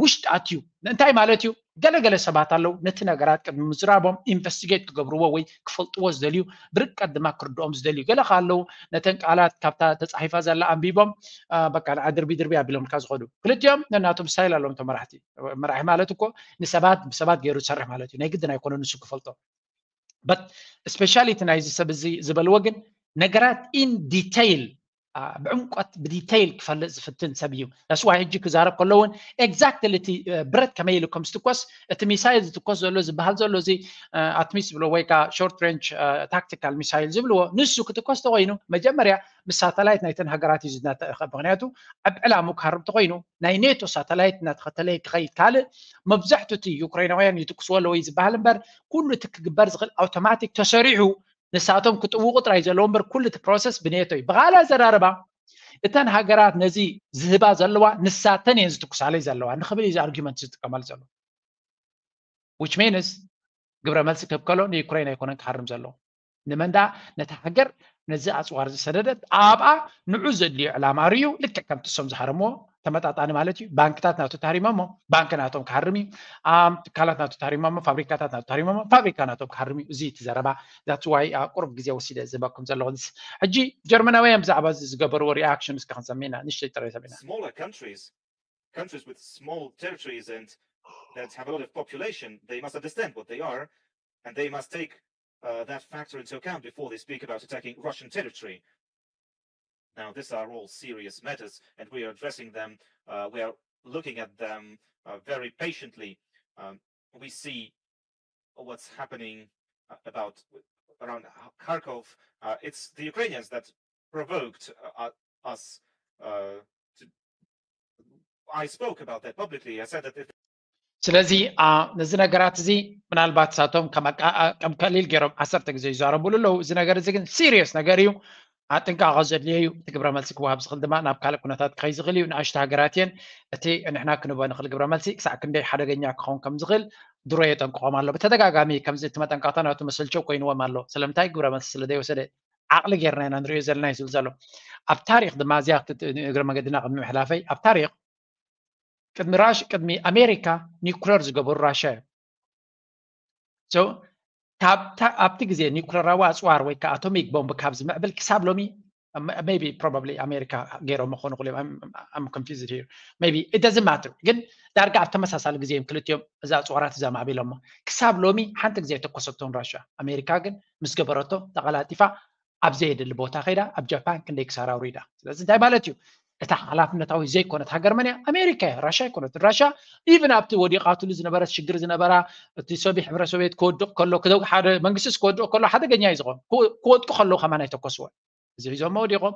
ውሽጢ ኣትዩ እንታይ ማለት እዩ? ገለገለ ሰባት ኣለዉ ነቲ ነገራት ቅድሚ ምዝራቦም ኢንቨስቲጌት ክገብርዎ ወይ ክፈልጥዎ ዝደልዩ፣ ብርቀት ድማ ክርድኦም ዝደልዩ። ገለ ከ ኣለዉ ነተን ቃላት ካብታ ተፃሒፋ ዘላ ኣንቢቦም በቃ ንዓ ድርቢ ድርቢ ኣቢሎምልካ ዝኸዱ። ክልቲኦም ነናቶም ስታይል ኣለዎም እቶም መራሕቲ። መራሒ ማለት እኮ ንሰባት ብሰባት ገይሩ ዝሰርሕ ማለት እዩ። ናይ ግድን ኣይኮነ ንሱ ክፈልጦ። በት ስፔሻሊቲ ናይዚ ሰብ እዚ ዝበልዎ ግን ነገራት ኢን ዲቴይል ብዕምቆት ብዲቴይል ክፈልጥ ዝፍትን ሰብ እዩ። ዳስዋ ሕጂ ክዛረብ ከሎ እውን ኤግዛክትሊ እቲ ብረት ከመይ ኢሉ ከም ዝትኮስ፣ እቲ ሚሳይል ዝትኮስ ዘሎ ዝበሃል ዘሎ እዚ ኣትሚስ ዝብሎ ወይ ከዓ ሾርት ሬንጅ ታክቲካል ሚሳይል ዝብልዎ ንሱ ክትኮስ ተኮይኑ መጀመርያ ምስ ሳተላይት ናይተን ሃገራት እዩ ዝናተእኸ። ምክንያቱ ኣብ ዕላሙ ክሃርብ ተኮይኑ ናይ ኔቶ ሳተላይት እናተኸተለ ክኸይድ ካልእ መብዛሕቱ እቲ ዩክሬናውያን ይትኩስዎ ኣለዎ እዩ ዝበሃል እምበር ኩሉ እቲ ክግበር ዝኽእል ኣውቶማቲክ ተሰሪሑ ንሳቶም ክጥውቑ ጥራይ ዘለዎ እምበር ኩሉ እቲ ፕሮሰስ ብኔቶ እዩ። ብኻልእ ኣዘራርባ እተን ሃገራት ነዚ ዝህባ ዘለዋ ንሳተን እየን ዝትኩሳለይ ዘለዋ ንክብል እዩ ኣርጊመንት ዝጥቀመሉ ዘሎ። ዊች ሚንስ ግብረ መልሲ ክህብ ከሎ ንዩክሬን ኣይኮነን ክሃርም ዘለዎ። ንመን ደኣ? ነታ ሃገር ነዚ ኣፅዋር ዝሰደደት ኣብኣ ንዑ ዘድልዮ ዕላማ ርዩ ልክዕ ከምቲ እሶም ዝሃረምዎ ተመጣጣኒ ማለት እዩ። ባንክታት ናቱ ተሃሪሞሞ፣ ባንክ ናቶም ክሃርም እዩ። ትካላት ናቱ ተሃሪሞሞ፣ ፋብሪካታት ናቱ ተሃሪሞሞ፣ ፋብሪካ ናቶም ክሃርም እዩ። እዚ እቲ ዘረባ that's why ቁሩብ ግዜ ወሲደ ዝህበኩም ዘለኹ። ሕጂ ጀርመናውያን ብዛዕባ እዚ ዝገበርዎ ሪኣክሽን እስከ ክንሰምዕ ኢና፣ ንእሽተይ ጥራይ ሰሚዕና። Smaller countries, countries with small territories and that have a lot of population, they must understand what they are and they must take uh, that factor into account before they speak about attacking Russian territory. Now, these are all serious matters, and we are addressing them. Uh, we are looking at them uh, very patiently, um, we see what's happening uh, about around Kharkov. Uh, it's the Ukrainians that provoked uh, us. Uh, to, I spoke about that publicly. I said that if ስለዚ ነዚ ነገራት እዚ ምናልባት ሳቶም ከም ቀሊል ገይሮም ዓሰርተ ግዜ ይዛረቡሉ ኣለዉ። እዚ ነገር እዚ ግን ሲሪየስ ነገር እዩ። ጥንቃቐ ዘድልዮ እዩ። እቲ ግብረ መልሲ ክወሃብ ዝኽእል ድማ ናብ ካልእ ኩነታት ክኸይ ዝኽእል እዩ። ንኣሽቱ ሃገራት እየን። እቲ ንሕና ክንቦ ንኽእል ግብረ መልሲ ክሳዕ ክንደይ ሓደገኛ ክኸውን ከም ዝኽእል ድሮ የጠንቅቖም ኣሎ። ብተደጋጋሚ ከምዚ እቲ መጠንቀቕታ ናቱ መሰልቸው ኮይንዎም ኣሎ። ስለምንታይ ግብረ መልሲ ስለ ዘይወሰደ ዓቕሊ ጌርና ኢና ንሪኦ ዘለና እዩ ዝብል ዘሎ። ኣብ ታሪክ ድማ እዚኣ እግረ መገድና ቅድሚ ምሕላፈይ ኣብ ታሪክ ቅድሚ ራሽ ቅድሚ ኣሜሪካ ኒኩለር ዝገበሩ ራሻ እዮም። ኣብቲ ግዜ ኒኩለራዊ ኣፅዋር ወይ ከዓ ኣቶሚክ ቦምብ ካብ ዝምዕብል ክሳብ ሎሚ maybe probably ኣሜሪካ ገይሮም ክኾኑ ክሉ I'm confused here maybe it doesn't matter ግን ዳርጋ ኣብ ተመሳሳሊ ግዜ እዮም ክልቲኦም እዛ ኣፅዋራት እዛ ማዕቢሎሞ ክሳብ ሎሚ ሓንቲ ግዜ የተኮሰቶም ራሻ ኣሜሪካ ግን ምስ ገበረቶ ተቐላጢፋ ኣብ ዘየድሊ ቦታ ከይዳ ኣብ ጃፓን ክንደይ ክሳራ ኣውሪዳ ስለዚ እንታይ ማለት እዩ እታ ሓላፍነታዊ ዘይኮነት ሃገር መን እያ ኣሜሪካ እያ ራሻ ኣይኮነትን ራሻ even ኣብቲ ወዲቓትሉ ዝነበረት ሽግር ዝነበራ እቲ ሶቪ ሕብረ ሶቪየት ክወድቕ ከሎ ሓደ መንግስቲ ክወድቕ ከሎ ሓደገኛ እዩ ዝኾን ክወድቁ ከለዉ ከማን ኣይተኮስወን እዚ ሒዞሞ ወዲቖም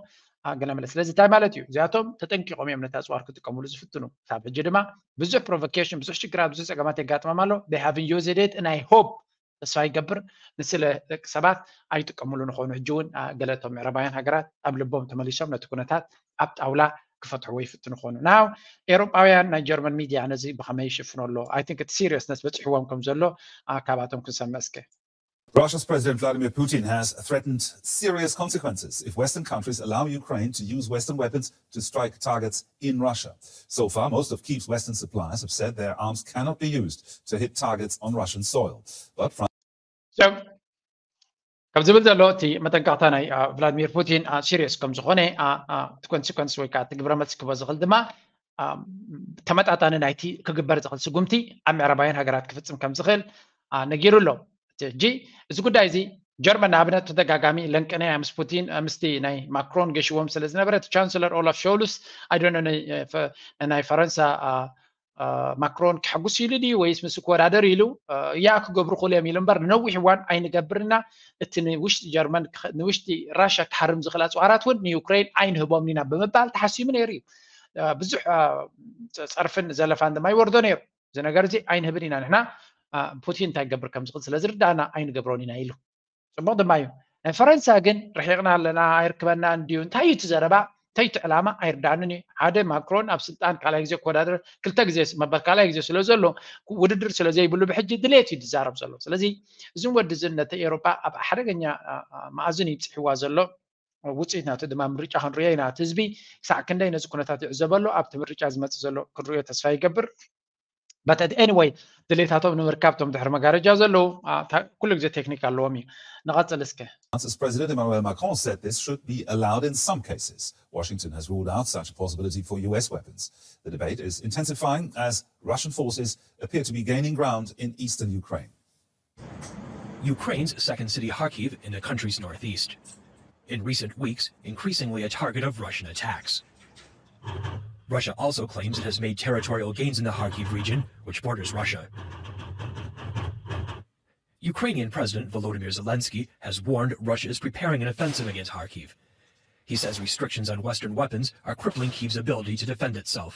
ገለ መለ ስለዚ እንታይ ማለት እዩ እዚኣቶም ተጠንቂቖም እዮም ነቲ ኣፅዋር ክጥቀምሉ ዝፍትኑ ክሳብ ሕጂ ድማ ብዙሕ provocation ብዙሕ ሽግራት ብዙሕ ፀገማት የጋጥሞም ኣሎ they haven't used it and I hope ተስፋ ይገብር ንስለ ደቂ ሰባት ኣይጥቀምሉ ንኾኑ ሕጂ እውን ገለቶም ምዕራባውያን ሃገራት ኣብ ልቦም ተመሊሶም ነቲ ኩነታት ኣብ ጣውላ ክፈትሕዎ ይፍትኑ ኾኑ ናው ኤሮጳውያን ናይ ጀርመን ሚድያ ነዚ ብኸመይ ይሽፍኖ ኣሎ I think እቲ seriousness በፂሕዎም ከም ዘሎ ካባቶም ክንሰምዕ እስከ Russia's President Vladimir Putin has threatened serious consequences if Western countries allow Ukraine to use Western weapons to strike targets in Russia. So far, most of Kyiv's Western suppliers have said their arms cannot be used to hit targets on Russian soil. But France. ከም ዝብል ዘሎ እቲ መጠንቀቕታ ናይ ቭላድሚር ፑቲን serious ከም ዝኾነ እቲ consequence ወይ ከዓ እቲ ግብረ መልሲ ክበ ዝኽእል ድማ ተመጣጣኒ ናይቲ ክግበር ዝኽእል ስጉምቲ ኣብ ምዕራባውያን ሃገራት ክፍፅም ከም ዝኽእል ነጊሩ ኣሎ ሕጂ እዚ ጉዳይ እዚ ጀርመን ንኣብነት ተደጋጋሚ ለንቅነያ ምስ ፑቲን ምስቲ ናይ ማክሮን ገሽዎም ስለ ዝነበረ እቲ ቻንስለር ኦላፍ ሾልስ ኣይዶነ ናይ ፈረንሳ ማክሮን ክሕጉስ ኢሉ ድዩ ወይስ ምስ ክወዳደር ኢሉ እያ ክገብሩ ክእሉ እዮም ኢሉ እምበር ንነዊሕ እዋን ኣይንገብርና እቲ ንውሽጢ ጀርመን ንውሽጢ ራሻ ክሃርም ዝኽእል ኣፅዋራት እውን ንዩክሬን ኣይንህቦም ኢና ብምባል ተሓሲሙ ነይሩ እዩ ብዙሕ ፀርፍን ዘለፋን ድማ ይወርዶ ነይሩ እዚ ነገር እዚ ኣይንህብን ኢና ንሕና ፑቲን እንታይ ክገብር ከም ዝኽእል ስለ ዝርዳእና ኣይንገብሮን ኢና ኢሉ ፅቡቕ ድማ እዩ ናይ ፈረንሳ ግን ርሒቕና ኣለና ኣይርክበና እንድዩ እንታይ እዩ እቲ ዘረባ እንታይ እቲ ዕላማ ኣይርዳእንን እዩ ሓደ ማክሮን ኣብ ስልጣን ካልኣይ ግዜ ክወዳደር ክልተ ግዜ መበል ካልኣይ ግዜ ስለ ዘሎ ውድድር ስለ ዘይብሉ ብሕጂ ድሌት እዩ ዝዛረብ ዘሎ ስለዚ እዝን ወዲ ዝን ነቲ ኤሮጳ ኣብ ሓደገኛ መኣዝን ይብፅሕዋ ዘሎ ውፅኢት ናቱ ድማ ምርጫ ክንሪኦ ኢና እቲ ህዝቢ ክሳዕ ክንደይ ነዚ ኩነታት ይዕዘበሉ ኣብቲ ምርጫ ዝመፅእ ዘሎ ክንሪኦ ተስፋ ይገብር but anyway ድሌታቶም ንምርካብ ቶም ድሕሪ መጋረጃ ዘለዉ ኩሉ ግዜ ቴክኒክ ኣለዎም እዩ ንቐፅል እስከ France's President Emmanuel Macron said this should be allowed in some cases. Washington has ruled out such a possibility for U S weapons. The debate is intensifying as Russian forces appear to be gaining ground in eastern Ukraine. Ukraine's second city, Kharkiv, in the country's northeast. In recent weeks, increasingly a target of Russian attacks. Russia also claims it has made territorial gains in the Kharkiv region, which borders Russia. Ukrainian President Volodymyr Zelensky has warned Russia is preparing an offensive against Kharkiv. He says restrictions on Western weapons are crippling Kyiv's ability to defend itself.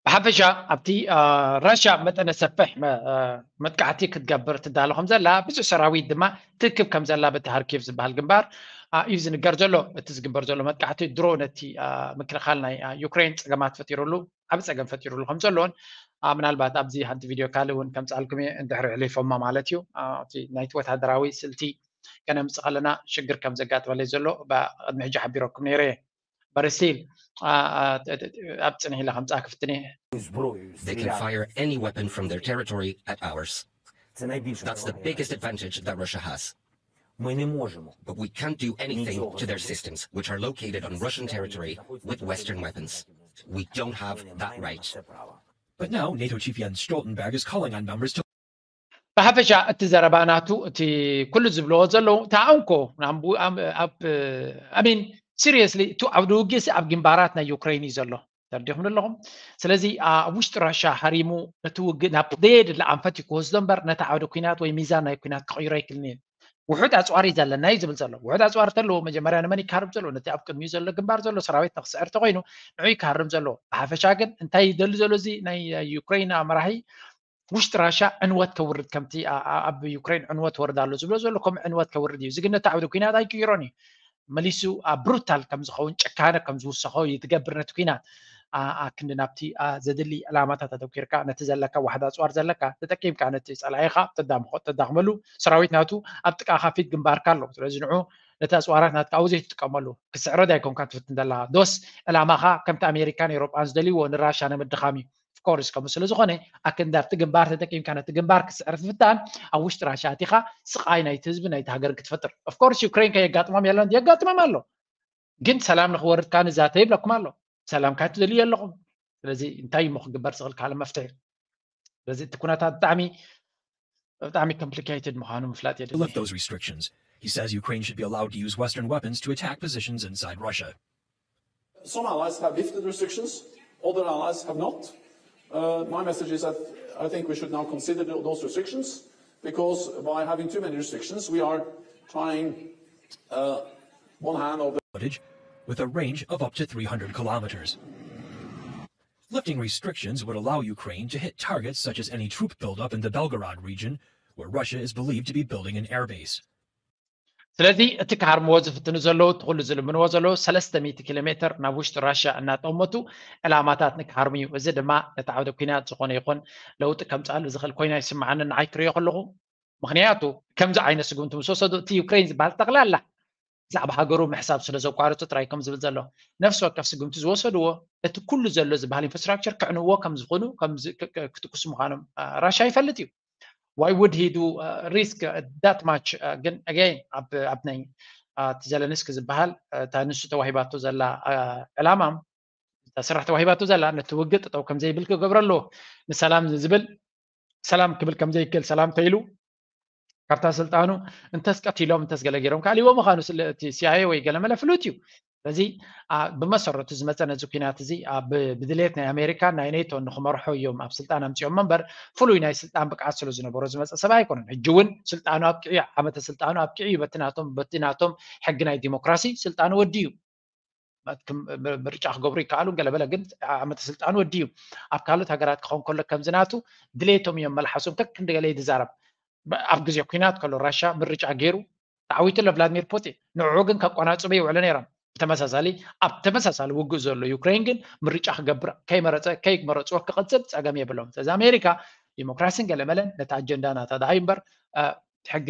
ብሓፈሻ ኣብቲ ራሽያ መጠነ ሰፍሕ መጥቃዕቲ ክትገብር ትዳሎ ከም ዘላ ብዙሕ ሰራዊት ድማ ትክብ ከም ዘላ በቲ ሃርኪቭ ዝበሃል ግንባር እዩ ዝንገር ዘሎ እቲ ዝግበር ዘሎ መጥቃዕቲ ድሮ ነቲ ምክልኻል ናይ ዩክሬን ፀገማት ፈጢሩሉ ዓብ ፀገም ፈጢሩሉ ከም ዘሎን ምናልባት ኣብዚ ሓንቲ ቪድዮ ካልእ እውን ከምፅኣልኩም እየ እንድሕሪ ዕሊፎማ ማለት እዩ ናይቲ ወታደራዊ ስልቲ ከነምፅእ ከለና ሽግር ከም ዘጋጥመለይ ዘሎ ቅድሚ ሕጂ ሓቢረኩም ነይረ እየ በረሲል ኣብ ፅንሕ ኢለ ከምፃ ክፍትን እየ They can fire any weapon from their territory at ours. That's the biggest advantage that Russia has. But we can't do anything to their systems, which are located on Russian territory, with Western weapons. We don't have that right. But now NATO chief Jens Stoltenberg is calling on members to ብሓፈሻ እቲ ዘረባ ናቱ እቲ ኩሉ ዝብልዎ ዘለዉ ተኣንኮ ኣብ ኣሚን ሲሪየስሊ እቲ ኣብ ድውጊ ኣብ ግንባራት ናይ ዩክሬን እዩ ዘሎ ተረዲኹም ኣለኹም። ስለዚ ኣብ ውሽጢ ራሻ ሃሪሙ ነቲ ውግእ ናብ ዘየድሊ ኣንፈት እዩ ክወስዶ እምበር ነቲ ዓውደ ኩናት ወይ ሚዛን ናይ ኩናት ክቕይሮ ኣይክልን እዩ። ውሑድ ኣፅዋር እዩ ዘለና እዩ ዝብል ዘሎ። ውሑድ ኣፅዋር ተለዎ መጀመርያ ንመን ይካርም ዘሎ? ነቲ ኣብ ቅድሚኡ ዘሎ ግንባር ዘሎ ሰራዊት ንክስዕር ተኮይኑ ንዑ ይካርም ዘሎ። ብሓፈሻ ግን እንታይ ይደሊ ዘሎ እዚ ናይ ዩክሬን መራሒ ውሽጢ ራሻ ዕንወት ከውርድ ከምቲ ኣብ ዩክሬን ዕንወት ወርድ ኣሎ ዝብሎ ዘሎ ከምኡ ዕንወት ከውርድ እዩ። እዚ ግን ነቲ ዓውዲ ኩናት ኣይቅይሮን እዩ። መሊሱ ኣብ ብሩታል ከም ዝኸውን ጭካነ ከም ዝውሰኾ እዩ ትገብር ነቲ ኩናት። ኣክንዲ ናብቲ ዘድሊ ዕላማታት ኣተኪርካ ነቲ ዘለካ ዋሕዳ ኣፅዋር ዘለካ ተጠቂምካ ነቲ ፀላኢኻ ተዳምኾ ተዳኽመሉ ሰራዊት ናቱ ኣብ ጥቃኻ ፊት ግንባርካ ኣሎ። ስለዚ ንዑ ነቲ ኣፅዋራት ናትካ ኣብኡ ዘይትጥቀመሉ ክስዕረድ ኣይኮንካ ትፍትን ዘለካ ዶስ ዕላማኻ ከምቲ ኣሜሪካን ኤሮጳን ዝደልይዎ ንራሻ ንምድኻም እዩ። ኦፍኮርስ ከምኡ ስለ ዝኾነ ኣክንዲ ኣብቲ ግንባር ተጠቂምካ ነቲ ግንባር ክስዕር ትፍታን ኣብ ውሽጢ ራሻ ኣቲኻ ስቃይ ናይቲ ህዝቢ ናይቲ ሃገር ክትፈጥር። ኦፍኮርስ ዩክሬን ከየጋጥሞም የለን የጋጥሞም ኣሎ። ግን ሰላም ንክወርድ ከኣ ንዛተ ይብለኩም ኣሎ። ሰላም ካይ ትደልዩ ኣለኹም። ስለዚ እንታይ እሞ ክግበር ዝኽእል ካልእ መፍትሒ? ስለዚ እቲ ኩነታት ብጣዕሚ ብጣዕሚ complicated ምዃኑ ምፍላጥ የድሊ። Lift those restrictions. He says Ukraine should be allowed to use Western weapons to attack positions inside Russia. Some allies have lifted restrictions, other allies have not. Uh, my message is that I think we should now consider tho- those restrictions because by having too many restrictions, we are trying uh, one hand of the Footage with a range of up to three hundred kilometers. Lifting restrictions would allow Ukraine to hit targets such as any troop buildup in the Belgorod region, where Russia is believed to be building an airbase. ስለዚ እቲ ክሃርምዎ ዝፍትኑ ዘለዉ እቲ ኩሉ ዝልምንዎ ዘለዉ ሰለስተ ሚእቲ ኪሎ ሜትር ናብ ውሽጢ ራሽያ እናጠመቱ ዕላማታት ንክሃርሙ እዩ። እዚ ድማ ነቲ ዓውደ ኩናት ዝኾነ ይኹን ለውጢ ከምፅኣሉ ዝኽእል ኮይኑ ኣይስምዓንን ንዓይ ክሪኦ ከለኹ። ምክንያቱ ከምዚ ዓይነት ስጉምቲ ምስ ወሰዱ እቲ ዩክሬን ዝበሃል ጠቕላላ ብዛዕባ ሃገሩ ምሕሳብ ስለ ዘቋረፁ ጥራይ ከም ዝብል ዘሎ ነፍሲ ወከፍ ስጉምቲ ዝወሰድዎ እቲ ኩሉ ዘሎ ዝበሃል ኢንፍራስትራክቸር ክዕንዎ ከም ዝኾኑ ክትኩስ ምዃኖም ራሽያ ይፈልጥ እዩ። Why would he do uh, risk uh, that much? Uh, ግን again ኣብ ኣብ ናይ እቲ ዘለንስኪ ዝበሃል እታ ንሱ ተዋሂባቶ ዘላ ዕላማ እታ ስራሕ ተዋሂባቶ ዘላ ነቲ ውግእ ጠጠው ከም ዘይብል ክገብረሉ ንሰላም ዝብል ሰላም ክብል ከም ዘይክእል ሰላም ተይሉ ካብታ ስልጣኑ እንተስ ቀቲሎም እንተስ ገለ ገይሮም ካልእዎ ምዃኑ እቲ ሲኣይኤ ወይ ገለመለ ፍሉጥ እዩ። ስለዚ ብመሰረቱ ዝመፀ ነዚ ኩናት እዚ ብድሌት ናይ ኣሜሪካን ናይ ኔቶን ንክመርሖ እዮም ኣብ ስልጣን ኣምፂኦም እምበር ፍሉይ ናይ ስልጣን ብቅዓት ስለ ዝነበሮ ዝመፀ ሰብ ኣይኮነን። ሕጂ እውን ስልጣኑ ኣብቂዑ ዓመተ ስልጣኑ ኣብቂዑ እዩ በቲ ናቶም በቲ ናቶም ሕጊ ናይ ዲሞክራሲ ስልጣኑ ወዲ እዩ። ምርጫ ክገብሩ ይከኣሉ ገለበለ ግን ዓመተ ስልጣኑ ወዲ እዩ። ኣብ ካልኦት ሃገራት ክኸውን ከሎ ከምዚ ናቱ ድሌቶም እዮም መልሓሶም ከክንዲ ገለ ይዛረብ። ኣብ ግዜ ኩናት ከሎ ራሻ ምርጫ ገይሩ ተዓዊቱ ኣሎ ቭላድሚር ፑቲን። ንዕኡ ግን ከቆናጽቡ ይውዕሉ ነይሮም። ብተመሳሳሊ ኣብ ተመሳሳሊ ውግእ ዘሎ ዩክሬን ግን ምርጫ ክገብር ከይመረጸ ከይመረጽዎ ክቐጽል ጸገም የብሎም። ስለዚ ኣሜሪካ ዲሞክራሲን ገለመለን ነቲ ኣጀንዳ ናታ ደሃዩ እምበር ሕጊ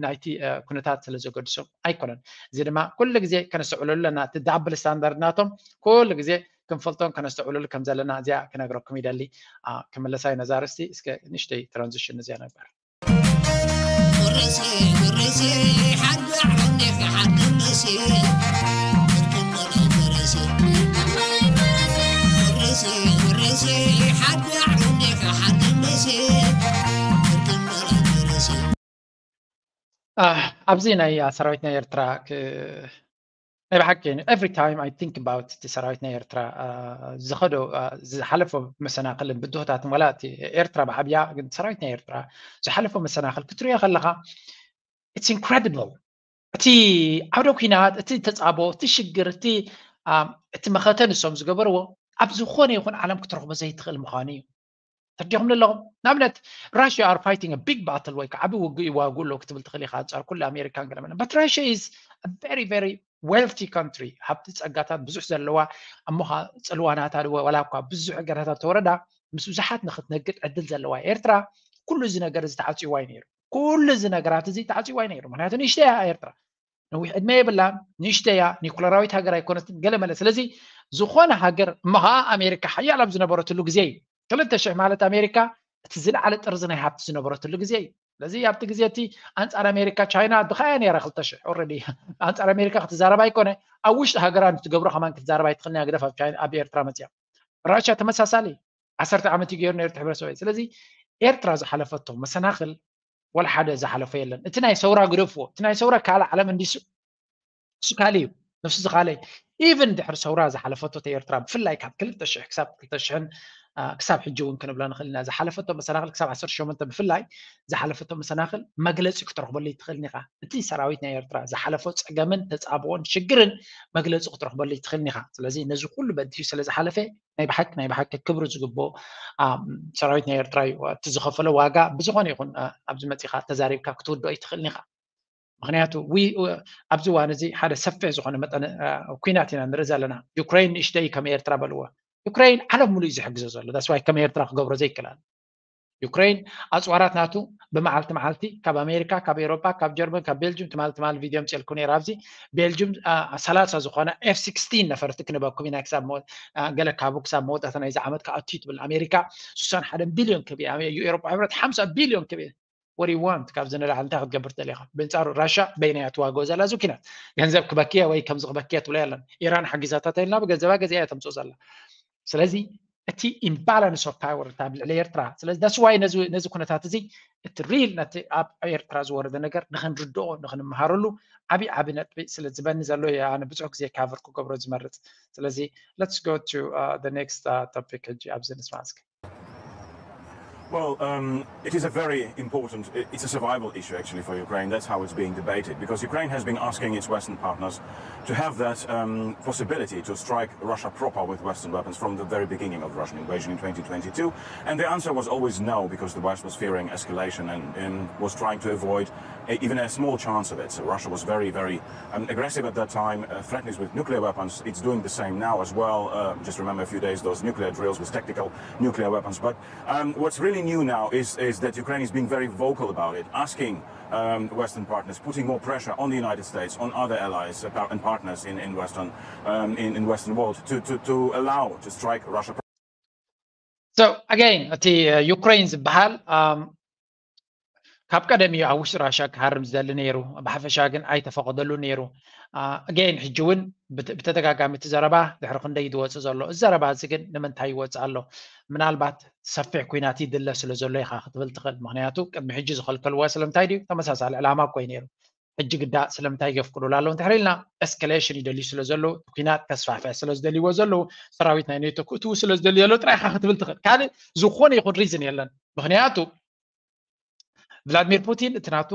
ናይቲ ኩነታት ስለ ዘገድሶም ኣይኮነን። እዚ ድማ ኩሉ ግዜ ከነስተውዕለሉ ኣለና። እቲ ዳብል ስታንዳርድ ናቶም ኩሉ ግዜ ክንፈልጦን ከነስተውዕለሉ ከም ዘለና እዚኣ ክነግረኩም ይደሊ። ክምለሳ እዩ ነዛ ኣርእስቲ። እስከ ንእሽተይ ትራንዚሽን እዚኣ ነበር። ኣብዚ ናይ ሰራዊት ናይ ኤርትራ ናይ ብሓቂ every time I think about እቲ ሰራዊት ናይ ኤርትራ ዝኸዶ ዝሓለፎ መሰናክልን ብድሆታትን ዋላ እቲ ኤርትራ ብዓብያ ግን ሰራዊት ናይ ኤርትራ ዝሓለፎ መሰናክል ክትሪኦ ከለካ it's incredible። እቲ ዓውደ ኩናት እቲ ተፃቦ እቲ ሽግር እቲ እቲ መኸተ ንሶም ዝገበርዎ ኣብ ዝኾነ ይኹን ዓለም ክትረኽቦ ዘይትኽእል ምዃኑ እዩ። ተረዲኹም ኣለኹም? ንኣብነት Russia are fighting a big battle ወይ ከዓ ዓቢ ውግእ ይዋግኡ ኣለዉ ክትብል ትኽእል ኢኻ ኣንጻር ኩሉ ኣሜሪካን ገለመለን but Russia is a very very wealthy country ሃብቲ ጸጋታት ብዙሕ ዘለዋ እሞ ጽልዋ ናታ ዋላ እኳ ብዙሕ እገዳታት ተወረዳ ምስ ብዙሓት ንኽትነግድ ዕድል ዘለዋ ኤርትራ ኩሉ እዚ ነገር እዚ ተዓጽይዋ እዩ ነይሩ። ኩሉ እዚ ነገራት እዚ ተዓጽይዋ እዩ ነይሩ። ምክንያቱ ንእሽተይ እያ ኤርትራ። ነዊሕ ዕድመ የብላን፣ ንእሽተይ እያ፣ ኒኩለራዊት ሃገር ኣይኮነትን ገለመለ። ስለዚ ዝኾነ ሃገር እሞ ከዓ ኣሜሪካ ሓያል ኣብ ዝነበረትሉ ግዜ እዩ። ክልተ ሽሕ ማለት ኣሜሪካ እቲ ዝለዓለ ጥርዚ ናይ ሃብቲ ዝነበረትሉ ግዜ እዩ። ስለዚ ኣብቲ ግዜ እቲ ኣንፃር ኣሜሪካ ቻይና ድኻ እያ ነይራ ክልተ ሽሕ already ኣንፃር ኣሜሪካ ክትዛረብ ኣይኮነ ኣብ ውሽጢ ሃገራ ንትገብሮ ከማን ክትዛረብ ኣይትኽእልን እያ ግደፍ ኣብ ኤርትራ መፅያ። ራሽያ ተመሳሳሊ ዓሰርተ ዓመት እዩ ገይሩ ነይሩ ሕብረተሰብ። ስለዚ ኤርትራ ዝሓለፈቶ መሰናኽል ወላ ሓደ ዝሓለፎ የለን። እቲ ናይ ሰውራ ግደፍዎ፣ እቲ ናይ ሰውራ ካልእ ዓለም እንዲሱ እሱ ካልእ እዩ። ነፍሲ ዝኻለይ ኢቨን ድሕሪ ሰውራ ዝሓለፈቶ ኤርትራ ብፍላይ ካብ ክልተ ሽሕ ክሳብ ክልተ ሽሕን ክሳብ ሕጂ እውን ክንብሎ ንኽእል ኢና። ዝሓለፈቶ መሰናኽል ክሳብ ዓሰርተ ሸሞንተ ብፍላይ ዝሓለፈቶ መሰናኽል መግለፂ ክትረኽበሉ ይትኽእል ኢኻ። እቲ ሰራዊት ናይ ኤርትራ ዝሓለፎ ፀገምን ተፃብኦን ሽግርን መግለፂ ክትረኽበሉ ይትኽእል ኢኻ። ስለዚ ነዚ ኩሉ በዲሁ ስለ ዝሓለፈ ናይ ብሓቂ ናይ ብሓቂ ክብሪ ዝግብኦ ሰራዊት ናይ ኤርትራ እዩ። እቲ ዝኸፈሎ ዋጋ ብዝኾነ ይኹን ኣብዚ መፂኻ ተዛሪብካ ክትውድኦ ይትኽእል ኢኻ። ምክንያቱ ኣብዚ እዋን እዚ ሓደ ሰፊሕ ዝኾነ መጠን ኩናት ኢና ንርኢ ዘለና። ዩክሬን ንእሽተይ ከም ኤርትራ በልዎ። ዩክሬን ዓለም ሙሉእ እዩ ዝሕግዞ ዘሎ። ዳስዋይ ከም ኤርትራ ክገብሮ ዘይክላል ዩክሬን ኣፅዋራት ናቱ ብመዓልቲ መዓልቲ ካብ ኣሜሪካ፣ ካብ ኤሮጳ፣ ካብ ጀርመን፣ ካብ ቤልጅም ትማል ትማል ቪድዮ ምፅልኩ ነይር። ኣብዚ ቤልጅም ሰላሳ ዝኾነ ኤፍ ሲክስቲን ነፈርቲ ክንበኩም ኢና ክሳብ ገለ ካብኡ ክሳብ መወዳእታ ናይዚ ዓመት ክኣቱ ትብል ኣሜሪካ። ስሳን ሓደን ቢልዮን ክብ ኤሮጳ ሕብረት ሓምሳ ቢልዮን ክብ ወሪ ዋንት ካብዚ ንላዕሊ እንታይ ክትገብር ትደሊ ኢኻ? ብንጻሩ ራሻ በይና እያ ትዋግኦ ዘላ እዚ ኩናት። ገንዘብ ክበክየ ወይ ከምዚ ክበክየ ትብሎ የለን። ኢራን ሓጊዛታ ተልና ብገንዘባ ገዚኣ እያ ተምጽኦ ዘላ። ስለዚ እቲ ኢምባላንስ ኦፍ ፓወር እታ ኣብ ልዕሊ ኤርትራ። ስለዚ that's why ነዚ ነዚ ኩነታት እዚ እቲ ሪል ነቲ ኣብ ኤርትራ ዝወረደ ነገር ንኽንርድኦ ንኽንመሃረሉ ዓቢ ዓቢ ነጥቢ ስለ ዝበኒ ዘሎ እየ ኣነ ብዙሕ ግዜ ካቨር ክገብሮ ዝመርጽ። ስለዚ let's go to the next topic ሕጂ ኣብዚ ንስማ እስኪ። Well, um, it is a very important, it's a survival issue actually for Ukraine. That's how it's being debated, because Ukraine has been asking its Western partners to have that um, possibility to strike Russia proper with Western weapons from the very beginning of the Russian invasion in twenty twenty-two. And the answer was always no, because the West was fearing escalation and, and was trying to avoid a, even a small chance of it. So Russia was very, very um, aggressive at that time, uh, threatening with nuclear weapons. It's doing the same now as well. Uh, just remember a few days, those nuclear drills with tactical nuclear weapons. But um, what's really new now is, is that Ukraine is being very vocal about it, asking um, Western partners, putting more pressure on the United States, on other allies uh, and partners in, in Western um, in, in Western world to, to, to allow to strike Russia. So again, እቲ ዩክሬን ዝበሃል ካብ ቀደም እዩ ኣብ ውሽጢ ራሻ ክሃርም ዝደሊ ነይሩ። ብሓፈሻ ግን ኣይተፈቐደሉ ነይሩ። ኣገይን ሕጂ እውን ብተደጋጋሚ እቲ ዘረባ ድሕሪ ክንደይ ዝወፅእ ዘሎ። እዚ ዘረባ እዚ ግን ንምንታይ ይወፅእ ኣሎ? ምናልባት ሰፊሕ ኩናት ይድለ ስለ ዘሎ ኢኻ ክትብል ትኽእል። ምክንያቱ ቅድሚ ሕጂ ዝኸልከልዎ ስለምንታይ ድዩ? ተመሳሳሊ ዕላማ እኮ እዩ ነይሩ። ሕጂ ግዳ ስለምንታይ የፍቅዱሉ ኣለዉ እንድሕር ኢልና ኤስካሌሽን ይደልዩ ስለ ዘለዉ፣ ኩናት ከስፋሕፍሕ ስለ ዝደልይዎ ዘለዉ፣ ሰራዊት ናይ ኔቶ ክእትዉ ስለ ዝደልዩ ዘለዉ ጥራይ ኢኻ ክትብል ትኽእል። ካልእ ዝኾነ ይኹን ሪዝን የለን። ምክንያቱ ቭላድሚር ፑቲን እቲ ናቱ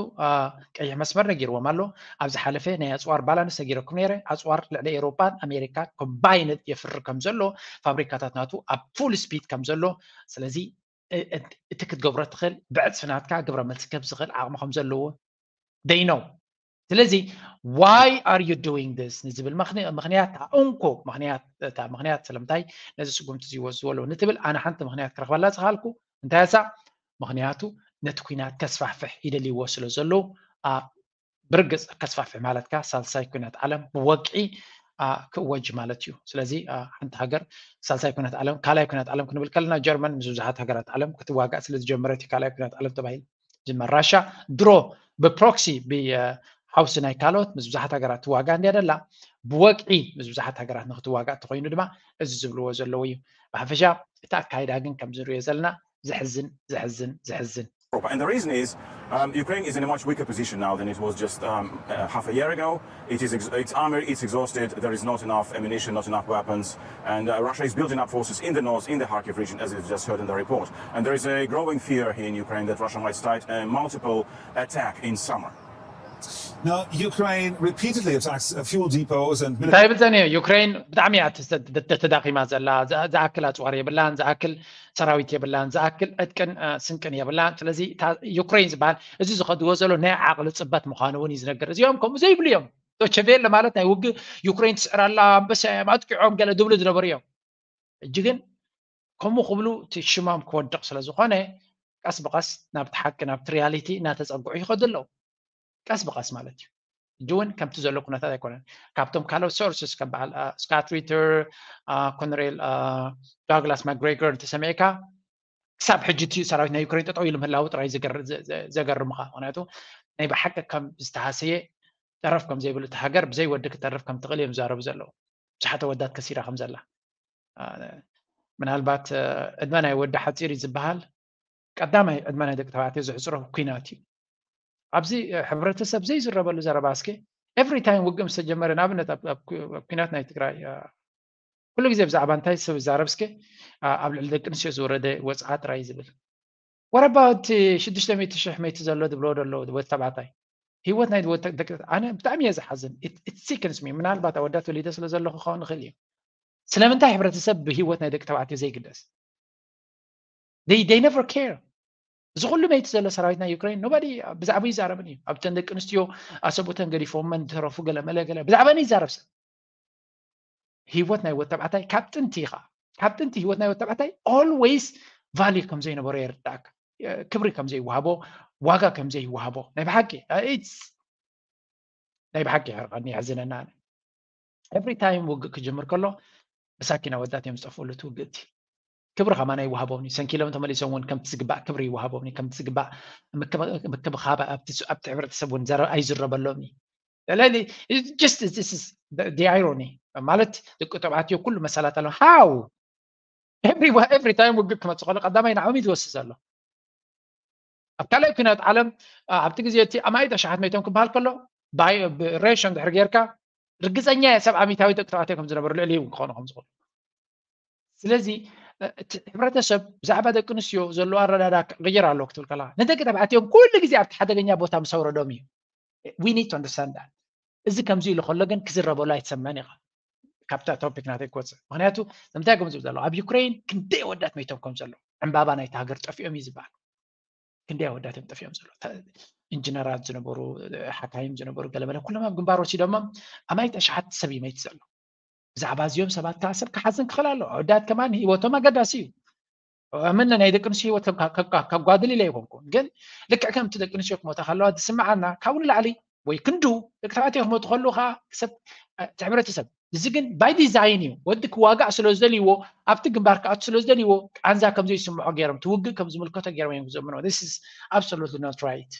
ቀይሕ መስመር ነጊርዎም ኣሎ። ኣብ ዝሓለፈ ናይ ኣፅዋር ባላንስ ነጊረኩም ነይረ። ኣፅዋር ልዕሊ ኤውሮጳን ኣሜሪካን ኮምባይንድ የፍሪ ከም ዘሎ፣ ፋብሪካታት ናቱ ኣብ ፉል ስፒድ ከም ዘሎ፣ ስለዚ እቲ ክትገብሮ ትኽእል ብዕፅፊ ናትካ ግብረ መልሲ ክህብ ዝኽእል ዓቕሚ ከም ዘለዎ they know። ስለዚ why are you doing this ንዝብል ምኽንያት እንኮ ምኽንያት እታ ምኽንያት ስለምንታይ ነዚ ስጉምቲ እዚ ይወስድዎ ኣለዉ ንትብል ኣነ ሓንቲ ምኽንያት ክረኽበላ ዝኸኣልኩ እንታይ እሳ ምኽንያቱ ነቲ ኩናት ከስፋሕፍሕ ይደልይዎ ስለ ዘለዉ ብርግፅ ከስፋሕፍሕ ማለት ከኣ ሳልሳይ ኩናት ዓለም ብወግዒ ክእወጅ ማለት እዩ። ስለዚ ሓንቲ ሃገር ሳልሳይ ኩናት ዓለም ካልኣይ ኩናት ዓለም ክንብል ከለና ጀርመን ምስ ብዙሓት ሃገራት ዓለም ክትዋጋእ ስለ ዝጀመረት እዩ ካልኣይ ኩናት ዓለም ተባሂሉ ዝመር። ራሻ ድሮ ብፕሮክሲ ብሓውሲ ናይ ካልኦት ምስ ብዙሓት ሃገራት ትዋጋእ እንድያ ደላ ብወግዒ ምስ ብዙሓት ሃገራት ንክትዋጋእ እንተኮይኑ ድማ እዚ ዝብልዎ ዘለዉ እዩ። ብሓፈሻ እቲ ኣካይዳ ግን ከምዚ ንሪኦ ዘለና ዘሕዝን ዘሕዝን ዘሕዝን And the reason is um, Ukraine is in a much weaker position now than it was just um, uh, half a year ago. It is ex- its armor is exhausted. There is not enough ammunition, not enough weapons, and uh, Russia is building up forces in the north, in the Kharkiv region, as you've just heard in the report. And there is a growing fear here in Ukraine that Russia might start a multiple attack in summer. Now, Ukraine repeatedly attacks uh, fuel depots and እንታይ ይብል ዘኒ ዩክሬን ብጣዕሚ እያ ተዳኺማ ዘላ። ዝኣክል ኣፅዋር የብላን፣ ዝኣክል ሰራዊት የብላን፣ ዝኣክል ዕጥቅን ስንቅን የብላን። ስለዚ ዩክሬን ዝበሃል እዚ ዝኸድዎ ዘሎ ናይ ዓቕሊ ፅበት ምዃኑ እውን እዩ ዝነገር። እዚኦም ከምኡ ዘይብሉ እዮም። ዶቸቬለ ማለት ናይ ውግእ ዩክሬን ትስዕር ኣላ፣ ኣንበሳ እዮም ኣጥቂዖም ገለ ዝብሉ ዝነበሩ እዮም። ሕጂ ግን ከምኡ ክብሉ እቲ ሽሞም ክወድቕ ስለ ዝኾነ ቀስ ብቐስ ናብቲ ሓቂ ናብቲ ሪያሊቲ እናተፀግዑ ይኸዱ ኣለዉ። ቀስ ብቐስ ማለት እዩ። ሕጂ እውን ከምቲ ዘሎ ኩነታት ኣይኮነን። ካብቶም ካልኦት ሶርስስ ከም በዓል ስካት ሪተር፣ ኮነሬል ዳግላስ ማግሬገር እንተሰሚዕካ ክሳብ ሕጂ እቲ ሰራዊት ናይ ዩክሬን ጠጠው ኢሉ ምህላዉ ጥራይ ዘገርምኻ። ምክንያቱ ናይ ብሓቂ ከም ዝተሃሰየ ጠረፍ ከም ዘይብሉ እቲ ሃገር ብዘይ ወዲ ክትተርፍ ከም ትኽእል እዮም ዝዛረቡ ዘለዉ። ብዙሓት ኣወዳት ከሲራ ከም ዘላ ምናልባት ዕድመ ናይ ወዲ ሓፂር እዩ ዝበሃል። ቀዳማይ ዕድመ ናይ ደቂ ተባዕትዮ ዝሕፅሮ ኩናት እዩ። ኣብዚ ሕብረተሰብ ዘይዝረበሉ ዘረባ እስኪ every time ውግእ ምስ ተጀመረ፣ ንኣብነት ኣብ ኩናት ናይ ትግራይ ኩሉ ግዜ ብዛዕባ እንታይ ሰብ ይዛረብ እስከ? ኣብ ልዕሊ ደቂ ኣንስትዮ ዝወረደ ወፅዓ ጥራይ ዝብል። What about ሽዱሽተ ሚእቲ ሽሕ መይቲ ዘሎ ዝብሎ ዘሎ ወዲ ተባዕታይ? ህይወት ናይ ወዲ ደቂ ኣነ ብጣዕሚ እየ ዝሓዝን። It sickens me። ምናልባት ኣወዳት ወሊደ ስለ ዘለኹ ክኸውን ይኽእል እዩ። ስለምንታይ ሕብረተሰብ ብህይወት ናይ ደቂ ተባዕትዮ ዘይግደስ? They never care። እዚ ኩሉ መይቲ ዘሎ ሰራዊት ናይ ዩክሬን nobody ብዛዕባ ይዛረብን እዩ። ኣብተን ደቂ ኣንስትዮ ኣሰብኡተን ገዲፎመን ዝተረፉ ገለ መለ ገለ ብዛዕባ ይዛረብ ሰብ። ህይወት ናይ ወተባዕታይ ካብ ጥንቲ ኢኻ ካብ ጥንቲ ህይወት ናይ ወተባዕታይ always value ከም ዘይነበሮ የርዳእካ። ክብሪ ከም ዘይወሃቦ፣ ዋጋ ከም ዘይወሃቦ ናይ ብሓቂ ናይ ብሓቂ ይሕርቐኒ፣ የሕዝነና። Every time ውግእ ክጅምር ከሎ መሳኪን ኣወዳት እዮም ዝጠፍኡሉ እቲ ውግእ እቲ። ክብሪ ከማን ኣይወሃቦም እዩ። ሰንኪሎም ተመሊሶም እውን ከምቲ ዝግባእ ክብሪ ይወሃቦም እዩ። ከምቲ ዝግባእ ምክብኻብ ኣብቲ ሕብረተሰብ እውን ኣይዝረበሎም እዩ። just irony ማለት ደቂ ተባዕትዮ ኩሉ መሳላት ኣለዎም። How every time ውግእ ክመፅእ ከሎ ቀዳማይ ንዓኦም እዩ ዝወስድ ዘሎ። ኣብ ካልኣይ ኩናት ዓለም ኣብቲ ግዜ እቲ ኣማኢት ኣሽሓት መይቶም ክበሃል ከሎ ሬሽን ድሕሪ ጌርካ ርግፀኛ እየ ሰብዓ ሚታዊ ደቂ ተባዕትዮ ከም ዝነበሩ ልዕሊ እውን ክኾኑ ከም ዝኽእሉ። ስለዚ እቲ ሕብረተሰብ ብዛዕባ ደቂ ኣንስትዮ ዘለዎ ኣረዳዳ ክቕይር ኣለዎ ክትብል ከለካ ንደቂ ተባዕትዮም ኩሉ ግዜ ኣብቲ ሓደገኛ ቦታ ምስ ኣውረዶም እዩ። We need to understand that። እዚ ከምዚ ኢሉ ከሎ ግን ክዝረበሉ ኣይትሰምዕን ኢኻ። ካብታ ቶፒክ ናተይ ክወፅእ ምክንያቱ ንምንታይ ከም ዝብል ዘሎ ኣብ ዩክሬን ክንደይ ኣወዳት መይቶም ከም ዘሎ ዕምባባ ናይቲ ሃገር ጠፊኦም እዩ ዝበሃል። ክንደይ ኣወዳት እዮም ጠፊኦም ዘሎ። ኢንጂነራት ዝነበሩ፣ ሓካይም ዝነበሩ ገለመለ ኩሎም ኣብ ግንባር ወሲዶሞም ኣማኢት ኣሽሓት ሰብ ይመይት ዘሎ። ብዛዕባ እዚኦም ሰባት ከዓ ሰብ ክሓዝን ክኽእል ኣለዎ። ኣወዳት ከማን ህይወቶም ኣገዳሲ እዩ። ኣመነ ናይ ደቂ ኣንስትዮ ህይወት ከጓድል ኢለ ኣይኮንኩን፣ ግን ልክዕ ከምቲ ደቂ ኣንስትዮ ክሞታ ከለዋ ዝስምዓና ካብኡ ንላዕሊ ወይ ክንዱ ደቂ ተባዕትዮ ክሞቱ ከለዉ ከዓ ሰብ እቲ ሕብረተሰብ እዚ ግን by design እዩ። ወዲ ክዋጋእ ስለ ዝደልይዎ ኣብቲ ግንባር ክኣቱ ስለ ዝደልይዎ ቃንዛ ከም ዘይስምዖ ገይሮም ትውግእ ከም ዝምልከቶ ገይሮም እዮም ዝዘምኖ። This is absolutely not right.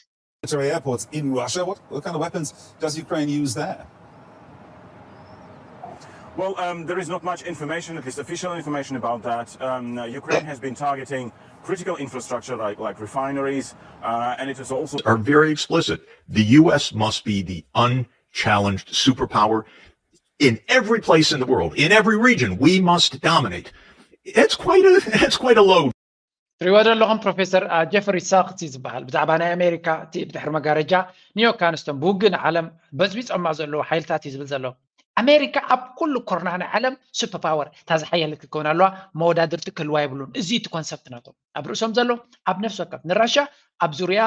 Military airports in Russia. What, what kind of weapons does Ukraine use there? Well, um, there is not much information, at least official information, about that. Um, Ukraine has been targeting critical infrastructure like, like refineries, uh, and it is also. Are very explicit. The U S must be the unchallenged superpower in every place in the world, in every region. We must dominate. It's quite a, it's quite a load. ትሪእዎ ዘለኹም ፕሮፌሰር ጀፍሪ ሳክስ እዩ ዝበሃል። ብዛዕባ ናይ ኣሜሪካ እቲ ብድሕሪ መጋረጃ ኒዮ ካንስቶን ብውግእ ንዓለም በዝቢፆማ ዘለዉ ሓይልታት እዩ ዝብል ዘሎ። ኣሜሪካ ኣብ ኩሉ ኩርናዕ ናይ ዓለም ሱፐር ፓወር እታ ዝሓየለት ክትከውን ኣለዋ። መወዳድርቲ ክህልዋ የብሉን። እዚ እቲ ኮንሰፕት ናቶም ኣብ ርእሶም ዘሎ ኣብ ነፍሲ ወከፍ ንራሻ ኣብ ዙርያ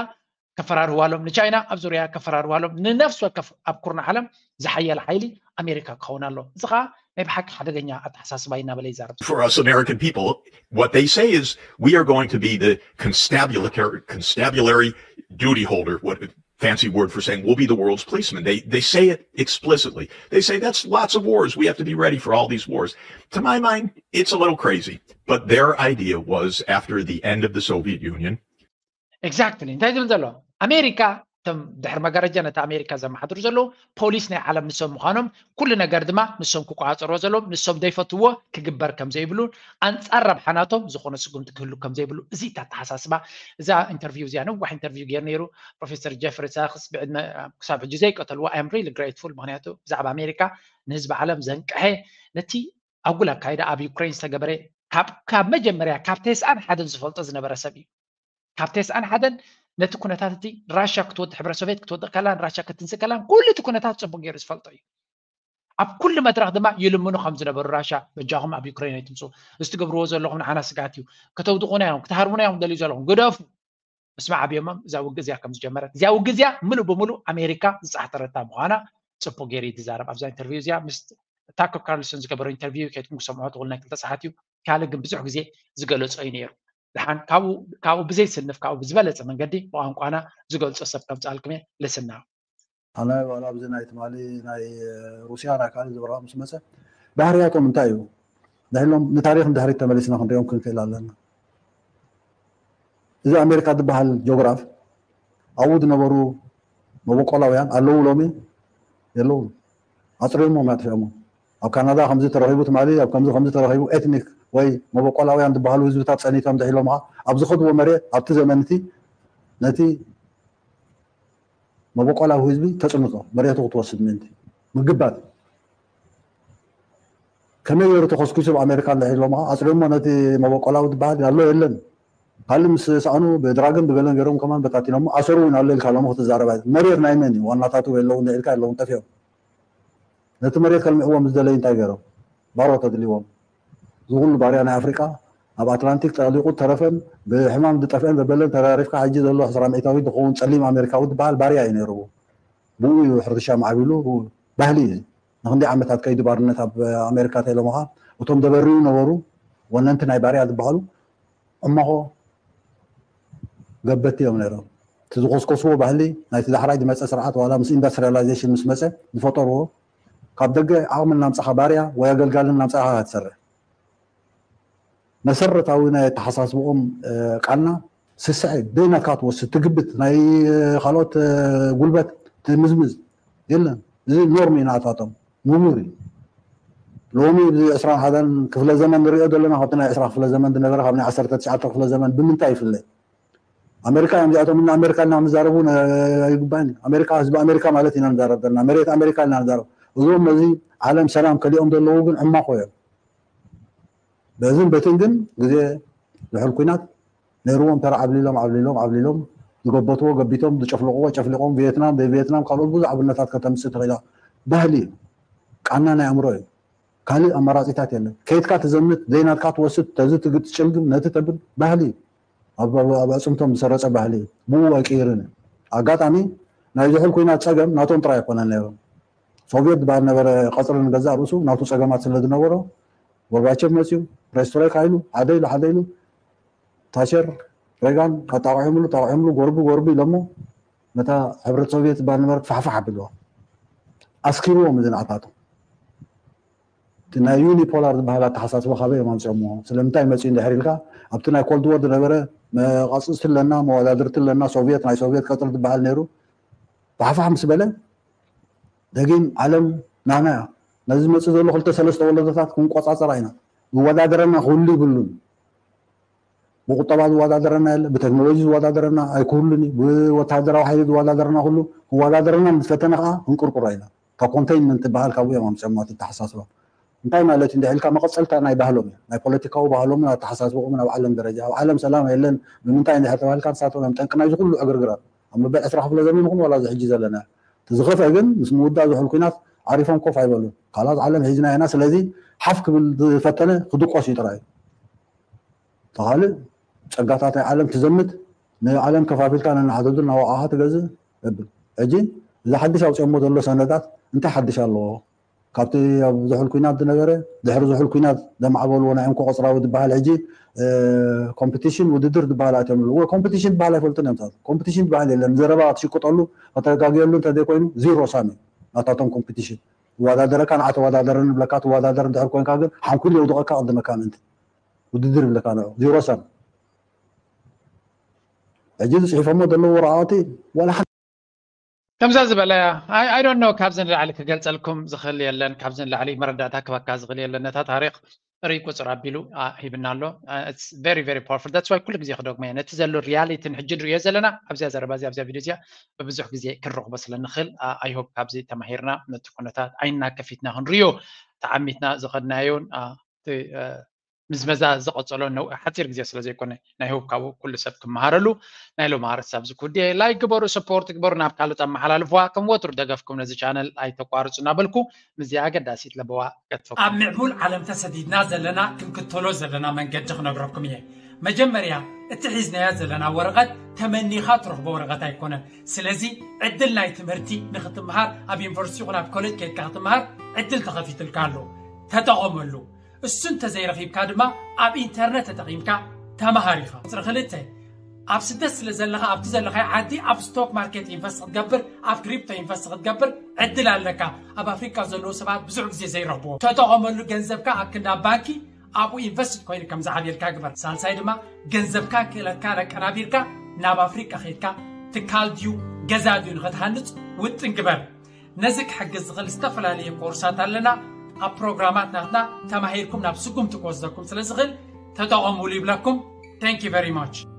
ከፈራርህዋሎም፣ ንቻይና ኣብ ዙርያ ከፈራርህዋሎም፣ ንነፍሲ ወከፍ ኣብ ኩርናዕ ዓለም ዝሓየለ ሓይሊ ኣሜሪካ ክኸውን ኣሎ። እዚ ከዓ ናይ ብሓቂ ሓደገኛ ኣተሓሳስባ እዩ እናበለ ይዛረብ። For us American people, what they say is we are going to be the constabulary, constabulary duty holder, what fancy word for saying we'll be the world's policeman. They they say it explicitly. They say that's lots of wars. We have to be ready for all these wars. To my mind, it's a little crazy. But their idea was after the end of the Soviet Union, Exactly እንታይ ዝብል ዘሎ ኣሜሪካ እቶም ድሕሪ መጋረጃ ነቲ ኣሜሪካ ዘመሓድሩ ዘለዉ ፖሊስ ናይ ዓለም ንሶም ምዃኖም ኩሉ ነገር ድማ ንሶም ክቆፃፀርዎ ዘለዎም ንሶም ዘይፈትዎ ክግበር ከም ዘይብሉ ኣንፃር ረብሓ ናቶም ዝኾነ ስጉምቲ ክህሉ ከም ዘይብሉ እዚ እታ ኣተሓሳስባ እዛ ኢንተርቪው እዚኣ ነዋሕ ኢንተርቪው ገይሩ ነይሩ ፕሮፌሰር ጀፍሪ ሳክስ ብዕድመ ክሳብ ሕጂ ዘይቀተልዎ I am really grateful ምክንያቱ ብዛዕባ ኣሜሪካ ንህዝቢ ዓለም ዘንቅሐ ነቲ ኣጉል ኣካይዳ ኣብ ዩክሬን ዝተገበረ ካብ መጀመርያ ካብ ተስዓን ሓደን ዝፈልጦ ዝነበረ ሰብ እዩ። ካብ ተስዓን ሓደን ነቲ ኩነታት እቲ ራሻ ክትወድእ ሕብረ ሶቬት ክትወድእ ከላን ራሻ ክትንስእ ከላን ኩሉ እቲ ኩነታት ፅቡቅ ገይሩ ዝፈልጦ እዩ። ኣብ ኩሉ መድረክ ድማ ይልምኑ ከም ዝነበሩ ራሻ በጃኹም ኣብ ዩክሬን ኣይትምፁ፣ እዚ ትገብርዎ ዘለኹም ንዓና ስግኣት እዩ፣ ከተውድቁና እዮም፣ ክትሃርሙና እዮም ደልዩ ዘለኹም፣ ግደፉ። ምስ መዓብዮሞም እዛ ውግእ እዚኣ ከም ዝጀመረት እዚኣ ውግእ እዚኣ ምሉእ ብምሉእ ኣሜሪካ ዝፃሕተረታ ምዃና ፅቡቅ ገይሩ እዩ ዝዛረብ ኣብዛ ኢንተርቪው እዚኣ ምስ ታኮ ካርልሰን ዝገበሮ ኢንተርቪው ከይድኩም ክሰምዖ ትኽእሉ ናይ ክልተ ሰዓት እዩ ካልእ ግን ብዙሕ ግዜ ዝገለፆ እዩ ነይሩ ድሓን ካብኡ ብዘይስንፍ ካብኡ ብዝበለፀ መንገዲ ብቋንቋና ዝገልፆ ሰብ ከምፅኣልኩም እየ ልስና ኣነ ዋላ ኣብዚ ናይ ትማሊ ናይ ሩስያ ናይ ካልእ ዝበርዖ ምስ መፀ ባህርያቶም እንታይ እዩ ድሕሎም ንታሪክ ንድሕሪት ተመሊስና ክንሪኦም ክንክእል ኣለና እዚ ኣሜሪካ ዝበሃል ጆግራፍ ኣብኡ ዝነበሩ መበቆላውያን ኣለዉ ሎሚ የለዉ ኣፅሪሞም ኣጥፊኦሞ ኣብ ካናዳ ከምዚ ተረኺቡ ትማሊ ኣብ ከምዚ ከምዚ ተረኺቡ ኤትኒክ ወይ መበቆላውያን ዝበሃሉ ህዝብታት ፀኒቶም ድሒሎም ኣብ ዝኸድዎ መሬት ኣብቲ ዘመን እቲ ነቲ መበቆላዊ ህዝቢ ተፅንቶ መሬቱ ክትወስድ ምእንቲ ምግባት ከመይ ገይሩ ተኸስኪሱ ኣብ ኣሜሪካ እንድሕር ኢሎምኻ ኣፅሪሞ ነቲ መበቆላዊ ዝበሃል ኣሎ የለን ካልእ ምስ ሰኣኑ ብድራግን ብገለን ገይሮም ከማን በታቲኖሞ ኣሰሩ እውን ኣሎ ኢልካ ሎሚ ክትዛረባ መሬት ናይ መን እዩ ዋናታቱ የለውን ኢልካ የለውን ጠፊኦም ነቲ መሬት ከልምዕዎም ዝደለዩ እንታይ ገይሮም ባሮ ተድልዎም ዝኩሉ ባርያ ናይ ኣፍሪቃ ኣብ ኣትላንቲክ ጠሊቁ ተረፈን ብሕማም ዝጠፍአን ዘበለን ተራሪፍካ ሕጂ ዘሎ ዕስራ ሚእታዊ ዝኸውን ፀሊም ኣሜሪካዊ ዝበሃል ባርያ እዩ ነይርዎ ብኡ እዩ ሕርሻ ማዕቢሉ ባህሊ እዩ ንክንደይ ዓመታት ከይዱ ባርነት ኣብ ኣሜሪካ ተኢሎምኻ እቶም ደበርዩ ነበሩ ወነንቲ ናይ ባርያ ዝበሃሉ እማኾ ገበቲ እዮም ነይሮም እቲ ዝኮስኮስዎ ባህሊ ናይቲ ዳሕራይ ዝመፀ ስርዓት ዋላ ምስ ኢንዱስትሪያላይዜሽን ምስ መፀ ዝፈጠርዎ ካብ ደገ ዓቕሚ እናምፃኻ ባርያ ወይ ኣገልጋሊ እናምፃኻ ትሰርሕ መሰረታዊ ናይ ኣተሓሳስብኦም ቃና ስስዐ ደይናትካ ትወስድ ትግብት ናይ ካልኦት ጉልበት ትምዝምዝ የለን እዚ ኖርም እዩ ናታቶም ምሙር እዩ ሎሚ እዚ ዕስራን ሓደን ክፍለ ዘመን ንሪኦ ዘለና ካብቲ ናይ ዕስራ ክፍለ ዘመን ዝነበረ ካብ ናይ ዓሰርተ ትሽዓተ ክፍለ ዘመን ብምንታይ ይፍለ ኣሜሪካ እዮም እዚኣቶም እና ኣሜሪካ እና ምዛረቡ ኣይግባእን ኣሜሪካ ህዝቢ ኣሜሪካ ማለት ኢና ንዛረብ ዘለና መሬት ኣሜሪካ ኢና ንዛረብ እዞም ነዚ ዓለም ሰላም ከሊኦም ዘለዉ ግን ዕማኾ እዮም በዝን በትን ግን ግዜ ዝሕል ኩናት ነይርዎም ተራ ዓብሊሎም ዓብሊሎም ዓብሊሎም ዝገበትዎ ገቢቶም ዝጨፍልቅዎ ጨፍሊቆም ቪየትናም ዘይቪየትናም ካልኦት ብዙሕ ኣብነታት ከተምፅእ ትኽእላ ባህሊ እዩ ቃና ናይ ኣእምሮ እዩ ካልእ ኣማራፂታት የለን ከይድካ ትዘምት ዘይናትካ ትወስድ ተዚ ትግጥ ትጭልግም ነቲ ተብል ባህሊ እዩ ኣብ ኣፅምቶም ዝሰረፀ ባህሊ እዩ ብኡ ኣይቅይርን እዩ ኣጋጣሚ ናይ ዝሕል ኩናት ፀገም ናቶም ጥራይ ኣይኮነን ነይሮም ሶቪየት ዝበሃል ነበረ ቀፅሪ ንገዛእ ርእሱ ናቱ ፀገማት ስለ ዝነበሮ ጎርባቸቭ መፅዩ ፕሬስትሮይካ ኢሉ ሓደ ኢሉ ሓደ ኢሉ ታቸር ሬጋን ኣጣቂዖምሉ ኣጣቂዖምሉ ጎርቢ ጎርቢ ኢሎሞ ነታ ሕብረት ሶቪየት ዝበሃል ነበረት ፋሕፋሕ ኣቢልዋ ኣስኪርዎም እዚ ንዓታቶም እቲ ናይ ዩኒፖላር ዝበሃል ኣተሓሳስባ ካበይ እዮም ኣምፅኦምዎ ስለምንታይ መፅኡ እንድሕር ኢልካ ኣብቲ ናይ ኮልድ ወር ዝነበረ መቃፅፅቲ ኣለና መወዳድርቲ ኣለና ሶቪየት ናይ ሶቪየት ቀፅሪ ዝበሃል ነይሩ ፋሕፋሕ ምስ በለ ደጊም ዓለም ናና እያ ነዚ ዝመፅእ ዘሎ ክልተ ሰለስተ ወለዶታት ክንቆፃፀራ ኢና ዝወዳደረና ክህሉ ይብሉን ብቁጠባ ዝወዳደረና የለ ብቴክኖሎጂ ዝወዳደረና ኣይክህሉን እዩ ብወታደራዊ ሓይሊ ዝወዳደረና ኩሉ ክወዳደረና ምስ ፈተነ ከዓ ክንቅርቅሮ ኢና ካብ ኮንቴይንመንት ትበሃል ካብኡ እዮም ኣምፅኦማ እቲ ኣተሓሳስባ እንታይ ማለት እንድሕር ኢልካ መቐፀልታ ናይ ባህሎም እዩ ናይ ፖለቲካዊ ባህሎምን ኣተሓሳስብኦምን ኣብ ዓለም ደረጃ ኣብ ዓለም ሰላም የለን ብምንታይ እንድሕር ተባሂልካ ንሳቶም እዮም ጠንቂ ናይዚ ኩሉ ዕግርግራት ኣብ መበል ዕስራ ክፍለ ዘመን ይኹን ዋላ እዚ ሕጂ ዘለና እቲ ዝኸፍአ ግን ምስ ምውዳእ ዝሑል ኩናት ዓሪፎም ኮፍ ኣይበሉን ካልኣት ዓለም ሒዝና ኢና ስለዚ ሓፍ ክብል ዝፈተነ ክድቆስ እዩ ጥራይ ተኻልእ ጸጋታት ናይ ዓለም ትዘምት ንዓለም ከፋፊልካ ነናሓተቱ ናዋቃኻ ትገዝእ እብል ሕጂ እዚ ሓድሽ ኣውፅኦሞ ዘሎ ሰነዳት እንታይ ሓድሽ ኣለዎ ካብቲ ኣብ ዝሑል ኩናት ዝነበረ ድሕሪ ዝሑል ኩናት ዘማዕበልዎ ናይ እንኮ ቆፅራዊ ዝበሃል ሕጂ ኮምፒቲሽን ውድድር ዝበሃል ኣትዮም ኣለዎ ኮምፒቲሽን ዝበሃል ኣይፈልጥን እዮም ኮምፒቲሽን ዝበሃል የለን ዘረባ ትሽቅጠሉ ከተጋግየሉ እንተዘይኮይኑ ዚሮ ሳሚ ናታቶም ኮምፒቲሽን ትወዳደረካ ንዓ ተወዳደረኒ ብለካ ትወዳደር እንድሕር ኮንካ ግን ሓንኩል የውድቐካ ቅድመካ ምእንቲ ውድድር ይብለካ ንዑ ዚሮ ሳሚ ሕጂ ዝፅሒፎሞ ዘለዉ ወረቃቅቲ ዋላ ሓንቲ ከምዛ ዝበለ I don't know ካብዚ ንላዕሊ ክገልፀልኩም ዝኽእል የለን ካብዚ ንላዕሊ መረዳእታ ክበካ ዝኽእል የለን ነታ ታሪክ ርይ ቁፅር ኣቢሉ ሂብና ኣሎ very very powerful that's why ኩሉ ግዜ ክደግሞ እየ ነቲ ዘሎ reality ን ሕጂ ንሪኦ ዘለና ኣብዚያ ዘረባ እዚ ኣብዚያ ቪድዮ እዚኣ ብብዙሕ ግዜ ክንረኽቦ ስለ ንኽእል I hope ካብዚ ተማሂርና ነቲ ኩነታት ዓይንና ከፊትና ክንሪኦ ተዓሚትና ዝኸድናዮን ምዝመዛ ዝቐፀሎ ሓፂር ግዜ ስለ ዘይኮነ ናይ ሆፕ ካብኡ ኩሉ ሰብ ክመሃረሉ ናይ ሎም ኣርስ ኣብዚ ክውዲ like ግበሩ support ግበሩ ናብ ካልኦት ኣመሓላልፍዋ ከም ወትሩ ደገፍኩም ነዚ ቻነል ኣይተቋርፁ እናበልኩ ምስዚ ኣገዳሲት ለበዋ ገድፈኩም ኣብ ምዕቡል ዓለም ተሰዲድና ዘለና ክንክተሎ ዘለና መንገዲ ክነግረኩም እየ መጀመርያ እቲ ሒዝናያ ዘለና ወረቐት ተመኒኻ ትረኽቦ ወረቐት ኣይኮነን ስለዚ ዕድል ናይ ትምህርቲ ንክትምሃር ኣብ ዩኒቨርሲቲ ይኹን ኣብ ኮሌጅ ከይድካ ክትምሃር ዕድል ተኸፊትልካ ኣሎ ተጠቐመሉ እሱ እንተዘይረኺብካ ድማ ኣብ ኢንተርነት ተጠቒምካ ተምሃር ኢኻ። ቁፅሪ ክልተ፣ ኣብ ስደት ስለ ዘለኻ ኣብቲ ዘለኻዮ ዓዲ ኣብ ስቶክ ማርኬት ኢንቨስት ክትገብር፣ ኣብ ክሪፕቶ ኢንቨስት ክትገብር ዕድል ኣለካ። ኣብ ኣፍሪቃ ዘለዉ ሰባት ብዙሕ ግዜ ዘይረኽብዎ። ተጠቐመሉ፣ ገንዘብካ ኣብ ክንዲ ኣብ ባንኪ ኣብኡ ኢንቨስት ኮይኑ ከም ዝዓብየልካ ግበር። ሳልሳይ ድማ ገንዘብካ ክእለትካ ኣቀናቢርካ ናብ ኣፍሪቃ ከይድካ ትካል ድዩ ገዛ ድዩ ንኽትሃንፅ ውጥን ግበር። ነዚ ክሕግዝ ዝኽእል ዝተፈላለየ ኮርሳት ኣለና። ኣብ ፕሮግራማት ናትና ተማሂርኩም ናብ ስጉምቲ ክወስደኩም ስለ ዝኽእል ተጠቐሙሉ ይብለኩም። Thank you very much።